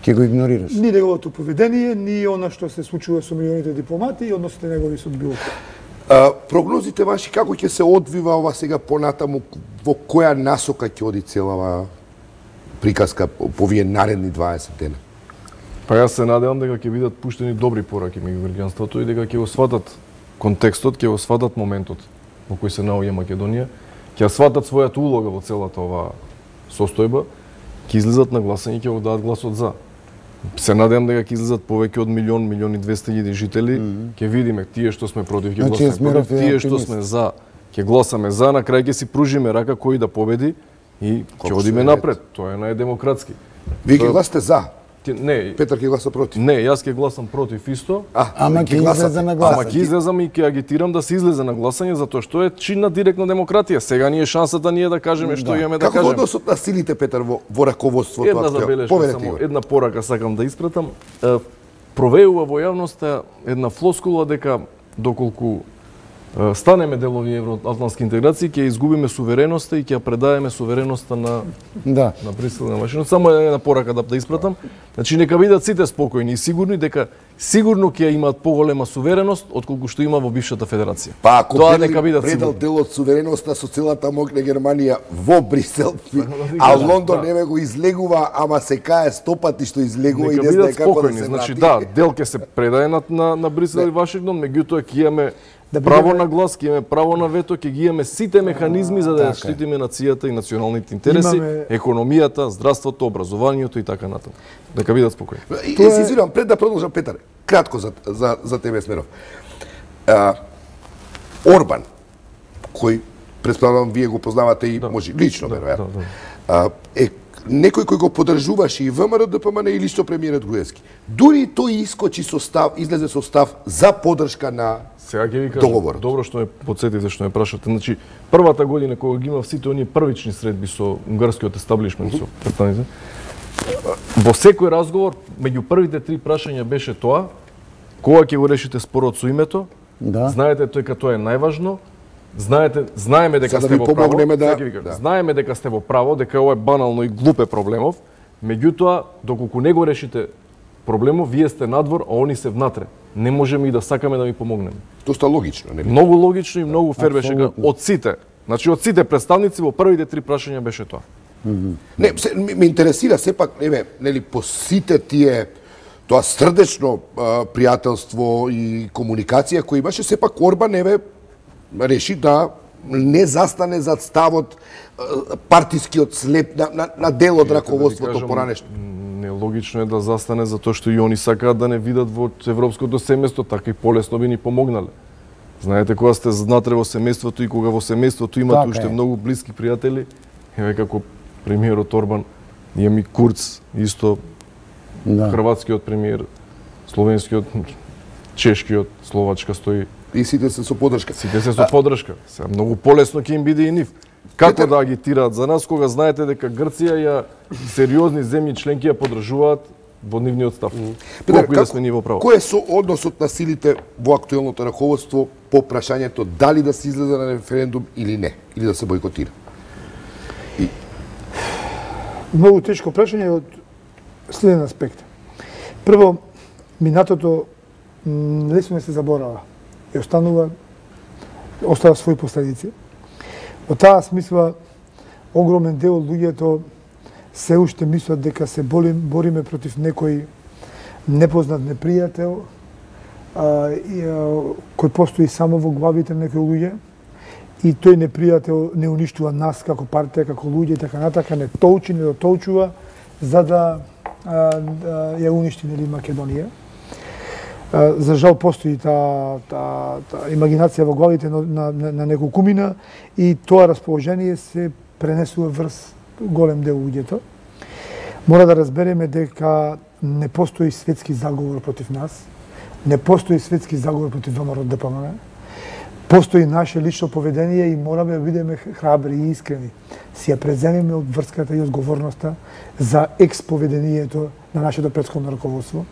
B: Ќе го игнорираш?
C: Ни неговото поведение, ни она што се случува со милионите дипломати и односите негови со било
A: кој. Прогнозите ваши како ќе се одвива ова сега понатаму, во која насока ќе оди целава приказка по овие наредни дваесет дена?
D: Па јас се надевам дека ќе бидат пуштени добри пораки меѓу граѓанството и дека ќе го сватат контекстот, ќе го сватат моментот во кој се наоѓа Македонија, ќе сватат својата улога во целата ова состојба, ќе излезат на гласање и ќе го дадат гласот за. Се надевам дека ќе излезат повеќе од милион, милион и двесте илјади жители, ќе видиме тие што сме против, ќе
B: Значи,
D: гласаме против,
B: Есмиров е
D: тие што
B: оптимист.
D: сме за, ќе гласаме за, на крај ќе си пружиме рака кој да победи и ќе
A: Колку
D: одиме
A: се
D: напред. Тоа е најдемократски.
A: Вие ќе гласате за?
D: Ти- Не,
A: Петар ќе гласа против?
D: не, јас ќе гласам против исто.
B: Ама ќе излезе на
D: Ама
B: гласање.
D: ќе излезам и ќе агитирам да се излезе на гласање затоа што е чин на директна демократија. Сега ни е шансата ние да кажеме што
B: Да.
D: имаме да
A: Како во
D: кажеме.
A: односот на силите, Петар, во, во раководството?
D: Една
A: актуелно?
D: забелешка,
A: Поведете
D: само
A: го.
D: една порака сакам да испратам. Е, Провеува во јавноста една флоскула дека доколку е, станеме дел овие евроатлантски интеграции, ќе изгубиме сувереноста и ќе ја предадеме сувереноста на
B: Да.
D: на Брисел и на Вашингтон. Само една порака да, да испратам. Значи нека бидат сите спокојни и сигурни дека сигурно ќе имаат поголема сувереност отколку што има во бившата федерација.
A: Па ако
D: Тоа
A: Берлин
D: дека бидат
A: предал
D: сигурни.
A: дел од сувереноста со целата мок на Германија во Брисел, а Лондон
D: да.
A: не го излегува, ама се кае стопати што излегува и
D: Нека
A: не знае
D: бидат
A: како да
D: спокојни.
A: се
D: Значи
A: врати.
D: да, дел ќе се предаде на на, на Брисел и Вашингтон, меѓутоа ќе имаме
C: Да
D: право
C: бидеме-
D: на глас, ќе имаме право на вето, ќе ги имаме сите механизми за да ја
B: Така е.
D: штитиме нацијата и националните интереси,
C: Имаме-
D: економијата, здравството, образованието и така натаму. Нека бидат спокојни.
A: И,
C: Тоа
A: и се
C: е-
A: извинувам, пред да продолжам, Петар, кратко за, за, за тебе, Смеров. А, Орбан, кој, предполагам, вие го познавате и
D: Да.
A: може лично,
D: Да,
A: веројатно,
D: да, да.
A: а, е некој кој го поддржуваше и ВМРО-ДПМН и лично премиерот Груевски. Дури и тој искочи со став, излезе со став за поддршка на
D: Сега ќе ви кажам,
A: договорот.
D: добро што ме потсетивте, што ме прашате. Значи, првата година кога ги имав сите оние првични средби со унгарскиот естаблишмент, со представници, во секој разговор, меѓу првите три прашања беше тоа, кога ќе го решите спорот со името,
B: Да.
D: знаете тој како тоа е најважно, знаете, знаеме дека
A: За да
D: сте
A: ви
D: во право,
A: помогнеме да-
D: сега ќе ви кажам,
A: да.
D: знаеме дека сте во право, дека ова е банално и глупе проблемов, меѓутоа, доколку не го решите проблемов, вие сте надвор, а они се внатре. Не можеме и да сакаме да ви помогнеме.
A: Доста логично, нели?
D: Многу логично и многу фер беше га-
B: Апсолутно.
D: од сите Значи од сите представници во првите три прашања беше тоа.
A: Не, се, ме, ме интересира сепак, еве, нели, по сите тие тоа срдечно а, пријателство и комуникација кој имаше, сепак Орбан, еве, реши да не застане зад ставот а, партискиот слеп на, на, на дел од раководството да поранешно.
D: Нелогично е да застане затоа што и они сакаат да не видат во европското семејство, така и полесно би ни помогнале. Знаете, кога сте знатре во семејството и кога во семејството имате уште многу блиски пријатели, еве како премиерот Орбан, имам и Курц, исто да. Хрватскиот премиер, словенскиот, чешкиот, Словачка стои.
A: И сите се со поддршка.
D: Сите се со поддршка. Сега многу полесно ќе им биде и нив. Како Петер... да агитираат за нас кога знаете дека Грција ја сериозни земји членки ја поддржуваат во нивниот став.
A: Петер,
D: колку и да сме ние во право.
A: Кој е со односот на силите во актуелното раководство по прашањето дали да се излезе на референдум или не, или да се бойкотира?
C: И... Многу тешко прашање од следен аспект. Прво, минатото лесно не се заборава и останува, остава своји последици. Во таа смисла, огромен дел од луѓето се уште мислат дека се болим, бориме против некој непознат непријател, а, и, а, кој постои само во главите на некои луѓе, и тој непријател не уништува нас како партија, како луѓе и така натака, не толчи, не дотолчува, за да, а, да ја уништи нели Македонија. А, за жал постои таа та, та имагинација во главите на, на, на неколкумина и тоа расположение се пренесува врз голем дел луѓето. Мора да разбереме дека не постои светски заговор против нас, не постои светски заговор против ВМРО Д П М Н. Постои наше лично поведение и мораме да бидеме храбри и искрени. Си ја преземеме од врската и одговорноста за експоведението на нашето претходно раководство.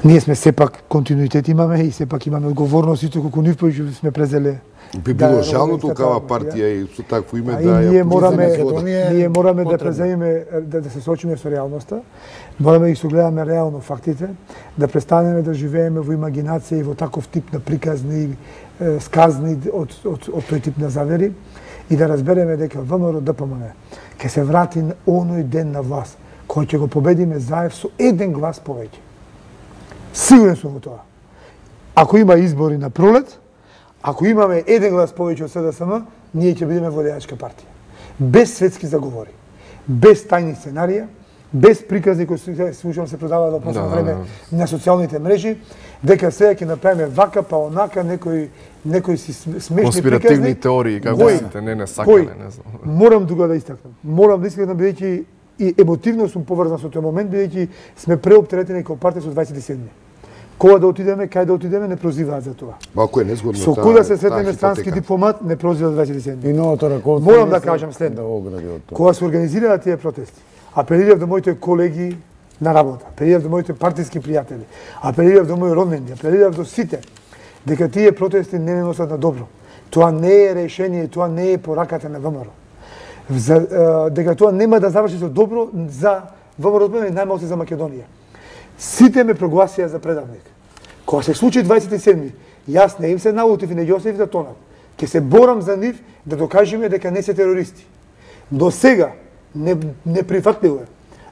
C: Ние сме сепак континуитет имаме и сепак имаме одговорност и колку нив повеќе сме презеле.
A: Би било да, жално толкава партија и со такво име да ја
C: ние мораме ние мораме да преземеме да, да се соочиме со реалноста. Мораме да ги согледаме реално фактите, да престанеме да живееме во имагинација и во таков тип на приказни е, сказни од, од, од тој тип на завери и да разбереме дека ВМРО Д П М Н ќе се врати на оној ден на власт кој ќе го победиме заев со еден глас повеќе. Сигурен сум во тоа. Ако има избори на пролет, ако имаме еден глас повеќе од С Д С М, ние ќе бидеме водеачка партија. Без светски заговори, без тајни сценарија, без приказни кои се слушам се продаваат во последно да, време да. На социјалните мрежи, дека сега ќе направиме вака па онака некои некои си смешни
D: конспиративни теории како сите не не сакале, не знам.
C: Морам тука да истакнам. Морам да истакнам бидејќи и емотивно сум поврзан со тој момент бидејќи сме преоптеретени како партија со дваесет и седми. Кога да отидеме, кај да отидеме, не прозиваат за тоа.
A: Малку е незгодно.
C: Со кој да се сретнеме странски дипломат, не прозива дваесет и седми.
B: И новото раководство.
C: Морам да кажам следно. Да кога се организираа тие протести, апелирав до моите колеги на работа, апелирав до моите партиски пријатели, апелирав до мои роднини, апелирав до сите, дека тие протести не не носат на добро. Тоа не е решение, тоа не е пораката на ВМРО. За, дека тоа нема да заврши со добро за ВМРО и најмалку за Македонија. Сите ме прогласија за предавник. Кога се случи дваесет и седми, јас не им се налутив и не ги оставив да тонат. Ке се борам за нив да докажеме дека не се терористи. До сега не, не прифатливо е,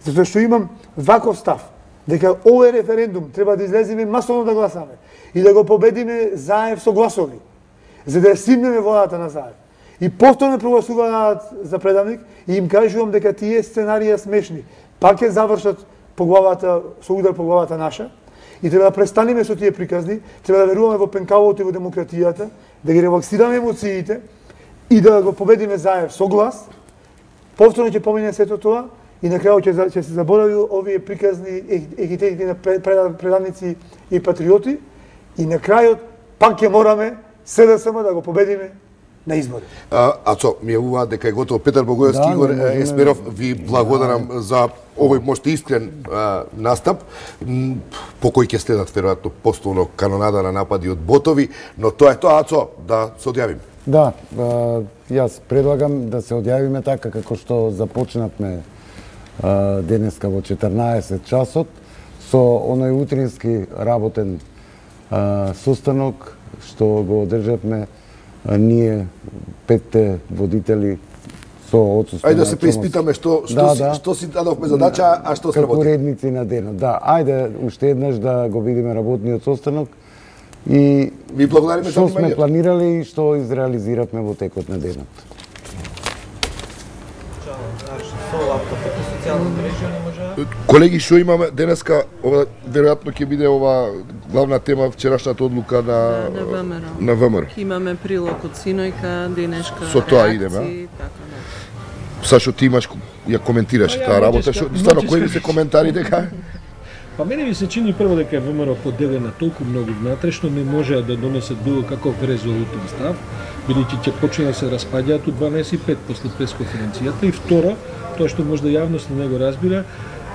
C: затоа што имам ваков став, дека овој референдум треба да излеземе масовно да гласаме и да го победиме заев со гласови, за да ја симнеме водата на заев. И повторно прогласуваат за предавник и им кажувам дека тие сценарија смешни пак ќе завршат по главата, со удар по главата наша, и треба да престанеме со тие приказни, треба да веруваме во пенкавото и во демократијата, да ги релаксираме емоциите и да го победиме заев со глас. Повторно ќе помине сето тоа и на крајот ќе, ќе се заборави овие приказни ехитети на предавници и патриоти и на крајот пак ќе мораме С Д С М да го победиме на избори.
A: А, Ацо, ми јавуваат дека е готово. Петар Богоевски, да, Игор Есмеров, ви благодарам да. За овој можете искрен а, настап, по кој ќе следат веројатно постојано канонада на напади од ботови, но тоа е тоа, Ацо, да се одјавиме.
B: Да, а, јас предлагам да се одјавиме така како што започнавме а, денеска во четрнаесет часот со оној утрински работен а, состанок што го одржавме а, ние петте водители со отсуство.
A: Ајде да се преиспитаме што што
B: да,
A: си,
B: да.
A: што си дадовме задача, а што сработи.
B: Како уредници на денот. Да, ајде уште еднаш да го видиме работниот состанок и
A: Ви благодариме за
B: што сме
A: вниманието.
B: планирали и што изреализиравме во текот на денот.
A: Колеги, што имаме денеска, ова веројатно ќе биде ова главна тема вчерашната одлука на
H: на ВМРО.
A: на ВМРО.
H: Имаме прилог од синојка, денешка
A: Со тоа
H: реакции,
A: идеме,
H: така да.
A: Сашо, ти имаш ја коментираш
I: Па ја
A: таа работа,
I: ноческа-
A: што стварно кои ви
I: ноческа-
A: се коментари дека
I: Па мене ми се чини прво дека е ВМРО поделена толку многу внатре што не можеа да донесат било каков резолутен став, бидејќи ќе почне да се распаѓаат у дванаесет и пет после пресконференцијата и второ, тоа што можда јавност не го разбира,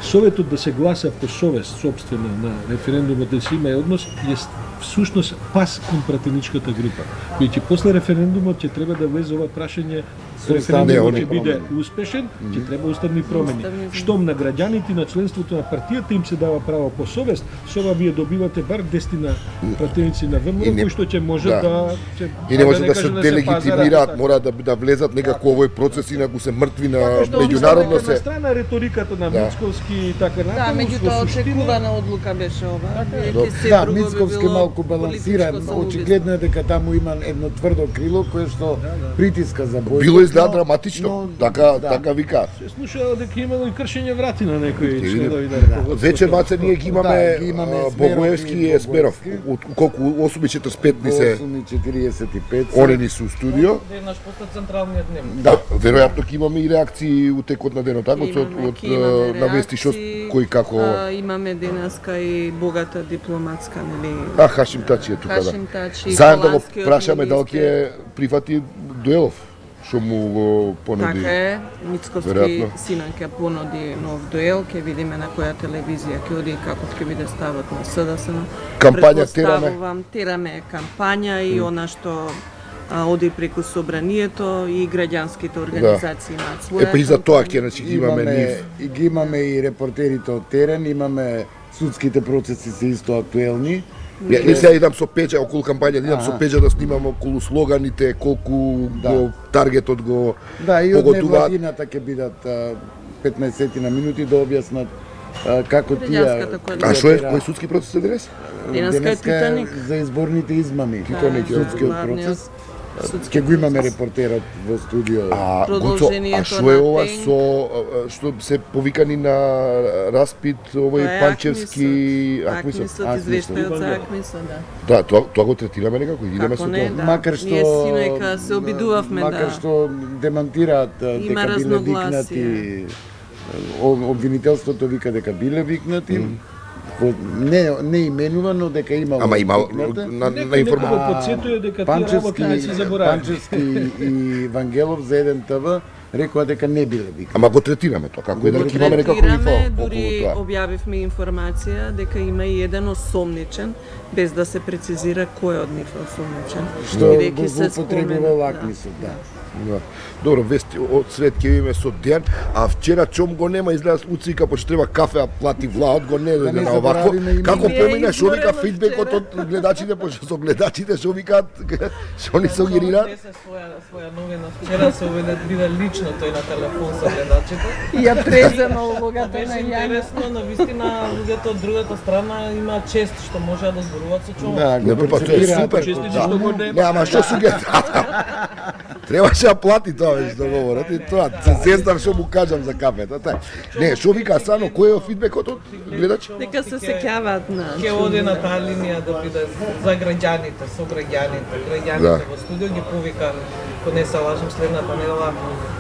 I: советот да се гласа по совест собствена на референдумот да се има однос е всушност пас кон пратеничката група. Бидејќи после референдумот ќе треба да влезе ова прашање референдумот
A: Не,
I: ќе биде успешен, ќе треба уставни промени.
H: Уставни
I: Штом на граѓаните на членството на партијата им се дава право по совест, со ова вие добивате бар десетина пратеници на
A: И
I: ВМРО
A: не-
I: кои што ќе може
A: да.
I: да, ќе,
A: и не може да се
I: кажам
A: делегитимираат,
I: пазарат.
A: мора да да влезат некако овој процес, инаку се мртви на
I: Така што
A: меѓународно
I: оставаме на
A: се.
I: страна риториката на
A: Да.
I: Мицковски и така
H: Да,
I: натаму.
H: меѓутоа
I: во суштина-
H: очекувана одлука беше ова. Бидејќи се
B: Да,
H: друго би
B: Мицковски
H: било
B: малку балансиран.
H: политичко самоубиство.
B: Очигледно е дека таму има едно тврдо крило кое што притиска за бојкот.
A: Било изгледа
B: но-
A: драматично,
B: но-
A: така
B: да.
A: така вика.
I: Се слушало дека имало и кршење врати на некои
A: види.
I: членови на раководството.
A: Вече маце ние ги имаме,
B: Да, ги имаме
A: а,
B: Есмеров
A: Богоевски
B: и
A: и Есмеров.
B: Богоевски.
A: Од колку осум и четиридесет и пет ни се
B: осум и четиридесет и пет се.
A: они ни се у студио.
J: Еднаш после централниот дневник.
A: Да, веројатно ќе имаме и реакции у текот на денот, така од
H: Имаме,
A: од
H: ќе имаме
A: на вести што
H: реакции,
A: кој како.
H: а, имаме денеска и богата дипломатска, нели?
A: А Хашим Тачи е тука, да.
H: Хашим Тачи,
A: Заедно да го
H: холандскиот
A: прашаме дали
H: министер.
A: ќе прифати Дуелов, што му го понуди.
H: Така е, Мицковски
A: Веројатно.
H: синан ќе понуди нов дуел, ќе видиме на која телевизија ќе оди и каков ќе биде ставот на СДС.
A: Кампања тераме.
H: Претпоставувам, тераме е кампања и она што а, оди преку собранието и граѓанските организации имаат своја.
A: Е, па и за тоа
H: кампања.
A: ќе значи ги имаме нив.
B: и ги имаме и репортерите од терен, имаме судските процеси се исто актуелни.
A: Ја, не сега идам со пеџа околу кампања, идам со
B: Аха.
A: пеџа да снимам околу слоганите, колку
B: Да.
A: го таргетот го
B: Да, и од
A: погодуваат.
B: невладината ќе бидат а, петнаесет на минути да објаснат а, како тие.
H: Граѓанската коалиција.
A: А што е кој судски процес е денес?
H: Денеска е
B: Денеска
H: Титаник.
B: за изборните измами.
A: Титаник, ја.
B: Судскиот
H: главниот
B: процес.
H: судски
B: Ќе го имаме
H: процес.
B: репортерот во студио.
A: А, Гуцо, а
H: Продолжението
A: што е
H: на
A: ова
H: Тенк.
A: со а, што се повикани на распит овој
H: Тоа е
A: Панчевски,
H: Акмисот.
A: Акмисот?
H: Акмисот,
B: Акмисот.
H: извештајот за Акмисот, да.
A: Да, тоа тоа го третираме некако, идеме
H: Како
A: со
H: не,
A: тоа.
H: да.
B: Макар што
H: Ние синојка се обидувавме
B: макар
H: да-
B: што демантираат а,
H: Има
B: дека биле
H: разногласие.
B: викнати, о- обвинителството вика дека биле викнати. Во- Не не именува, но дека имало
A: Ама има
B: викната.
A: на, на
I: Некој
A: информација.
I: некој го подсетува дека тие работи
B: Панчевски,
I: не се забораваат.
B: Панчевски и Вангелов за еден ТВ рекоа дека не биле викнати.
A: Ама го третираме тоа, како еден
H: Го
A: ќе имаме некако
H: третираме,
A: инфо околу
H: дури
A: тоа.
H: објавивме информација дека има и еден осомничен, без да се прецизира кој од нив е осомничен.
B: Што
H: Бидејќи
B: го
H: се
B: злоупотребува
H: спомена,
B: лакмисот, да.
A: Да. Добро, вести од свет ќе видиме со Дејан, а вчера Чом го нема, изгледа уцика, почто треба кафе, а плати влаот, го не дојде
B: не
A: на овакво.
B: заборавиме и
A: Како
H: ние.
A: премина, шо вика
H: Изгорено
A: фидбекот
H: вчера.
A: од гледачите, пошто со гледачите шо викаат, шо ни сугерираат?
J: Се своја своја новина вчера се уведе биде лично тој на телефон со гледачите.
H: ја презема улогата
J: Беше
H: на Јана.
J: интересно, но вистина луѓето од другата страна има чест што можеа да зборуваат со човек.
B: Да,
A: Не,
B: го
A: па тоа е
B: перцепираат
A: супер.
B: како
I: Честити
A: Да.
I: што го
A: Не, ама што суге? Требаше да плати тоа веќе договорот и тоа. Се зездам што му кажам за кафето. Та. Не, што вика Сано, кој е фидбекот од гледач?
H: Дека се сеќаваат на
J: Ке оди на таа линија да биде за граѓаните, со граѓаните, граѓаните
A: Да.
J: во студио ги повика, ако не се лажам следната недела,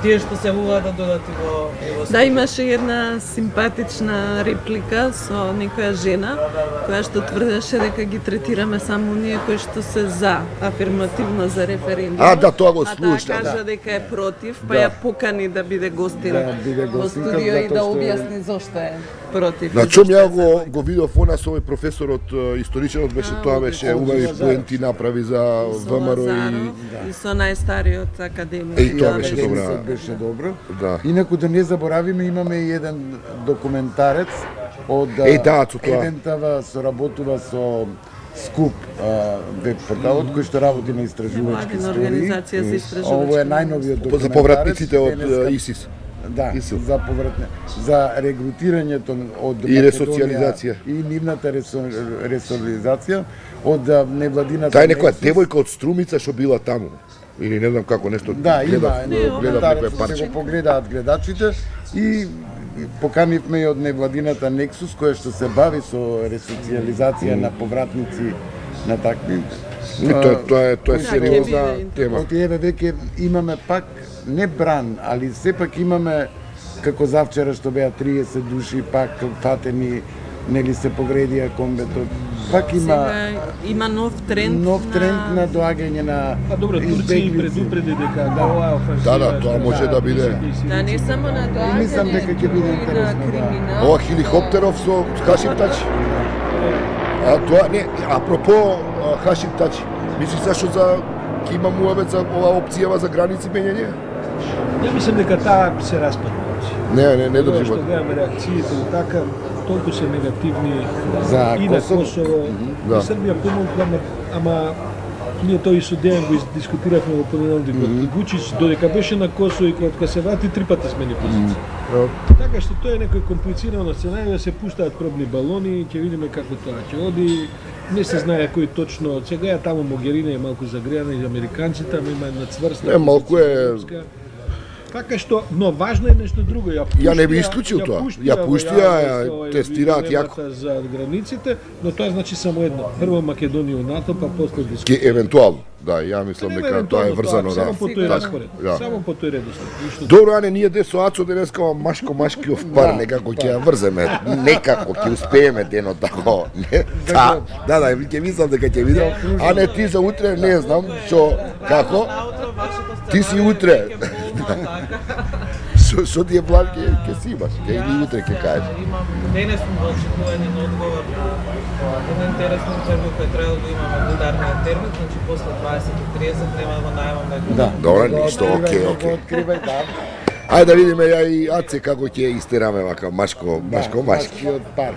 J: тие што се јавуваат да додат и во и во
H: Да,
J: студио.
H: имаше една симпатична реплика со некоја жена која што тврдеше дека ги третираме само оние кои што се за, афирмативно за референдум.
A: А, да, тоа го
H: А
A: слушна,
H: таа кажа
A: да.
H: дека е против, па
A: Да.
H: ја покани да биде гостин
B: Да, биде
H: во
B: гостинка,
H: студио и
B: затоа
H: да
B: што е-
H: објасни зошто е против.
A: На
H: и
A: чом
H: зошто
A: ја
H: е
A: го
H: за.
A: го видов она со овој професорот е, историчарот беше
H: А,
A: тоа
H: од-
A: беше
H: од
A: убави
H: Лазаров.
A: поенти направи за
H: Со
A: ВМРО и
H: Лазаров и со најстариот академик.
A: Е, и тоа
H: Да,
A: беше
H: беше
A: добра.
H: супер,
B: Беше
H: да.
B: добро.
A: Да.
B: Инаку да не заборавиме, имаме и еден документарец од
A: Еј, да, со тоа.
B: еден ТВ соработува со Скуп веб порталот кој што работи на истражувачки истории.
H: Организација за истражувачки.
B: Ово е најновиот документарец.
A: За повратниците од ИСИС.
B: Да, Исил. за повратне, за регрутирањето од
A: и ресоциализација
B: и нивната ресо, ресоциализација од невладината.
A: Тај некоја девојка од Струмица што била таму. Или не знам како нешто.
B: Да, има,
A: гледав некој парче.
B: Се го погледаат гледачите и поканивме и од невладината Nexus која што се бави со ресоциализација на повратници на такви.
A: И тоа тоа е тоа е сериозна тема.
B: Од еве веќе имаме пак не бран, али сепак имаме како завчера што беа триесет души пак фатени, нели се погредија комбетот. Пак има
H: Сега има нов тренд
B: нов тренд на, на доаѓање на
I: А добро, Турција предупреди дека да ова офанзива.
A: Да, да, тоа може да биде.
H: Да, не само на доаѓање,
B: мислам дека ќе биде интересно, да.
H: криминал.
A: Ова хеликоптеров со Хашим Тачи. А тоа не, апропо Хашим Тачи, мислиш зашто за ќе има муабет за оваа опцијава за граници менјање?
I: Ја мислам дека таа се распадна.
A: Не, не, не држи
I: Што
A: вода.
I: гледаме реакциите и така, толку се негативни
B: За
I: и на
B: Косово.
I: Косово.
A: Да.
I: И Србија помогна, ама, ама ние тој со Дејан го дискутиравме во понеделник. Mm -hmm. Вучич додека беше на Косово и кога се врати три пати смени позиција. Mm -hmm. Така што тоа е некој комплицирано сценарио, се пуштаат пробни балони, ќе видиме како тоа ќе оди. Не се знае кој точно, сега е таму Могерина е малку загреана и американците, ама има една цврста.
A: Е, малку е.
I: Така што, но важно е нешто друго. Ја,
A: Ја не би исклучил тоа. Ја пушти, ја тестираат јако.
I: За границите, но тоа значи само едно. Прво Македонија у НАТО, па после
A: Ке
I: дискусија.
A: евентуално, да, ја мислам дека тоа е врзано, да.
I: Само по тој
A: Така,
I: распоред.
A: да.
I: Само по тој редослед. Ништо
A: Добро, Ане, ние де со Ацо денеска машко машкиов пар, некако ќе ја врземе, некако ќе успееме дено тако. Не, да, да, да, ќе мислам дека ќе видам. Ане, ти за утре не знам што како. Ти си утре. Што што ти е план ќе ќе си имаш, ќе или утре ќе кажеш.
J: Имам денес сум во очекување на одговор на една интересна интервју која треба да имаме во ударниот термин, значи после дваесет и тридесет нема да го најавам да
B: Да.
A: Добро, ништо, окей, окей.
B: Откривај, да.
A: Ајде да видиме ја и Аце како ќе истераме вака машко, машко, машки.
B: Машкиот пар.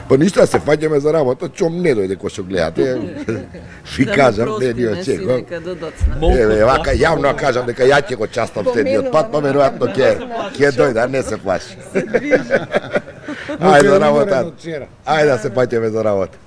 A: Па ништо да се фаќаме за работа, чом не дојде кој што гледате. Ви кажам, не ни очекувам. Еве, вака јавно кажам дека ја ќе го частам следниот пат, па веројатно ќе ќе дојде, не се плаши. Ајде за работа. Ајде да се фаќаме за работа.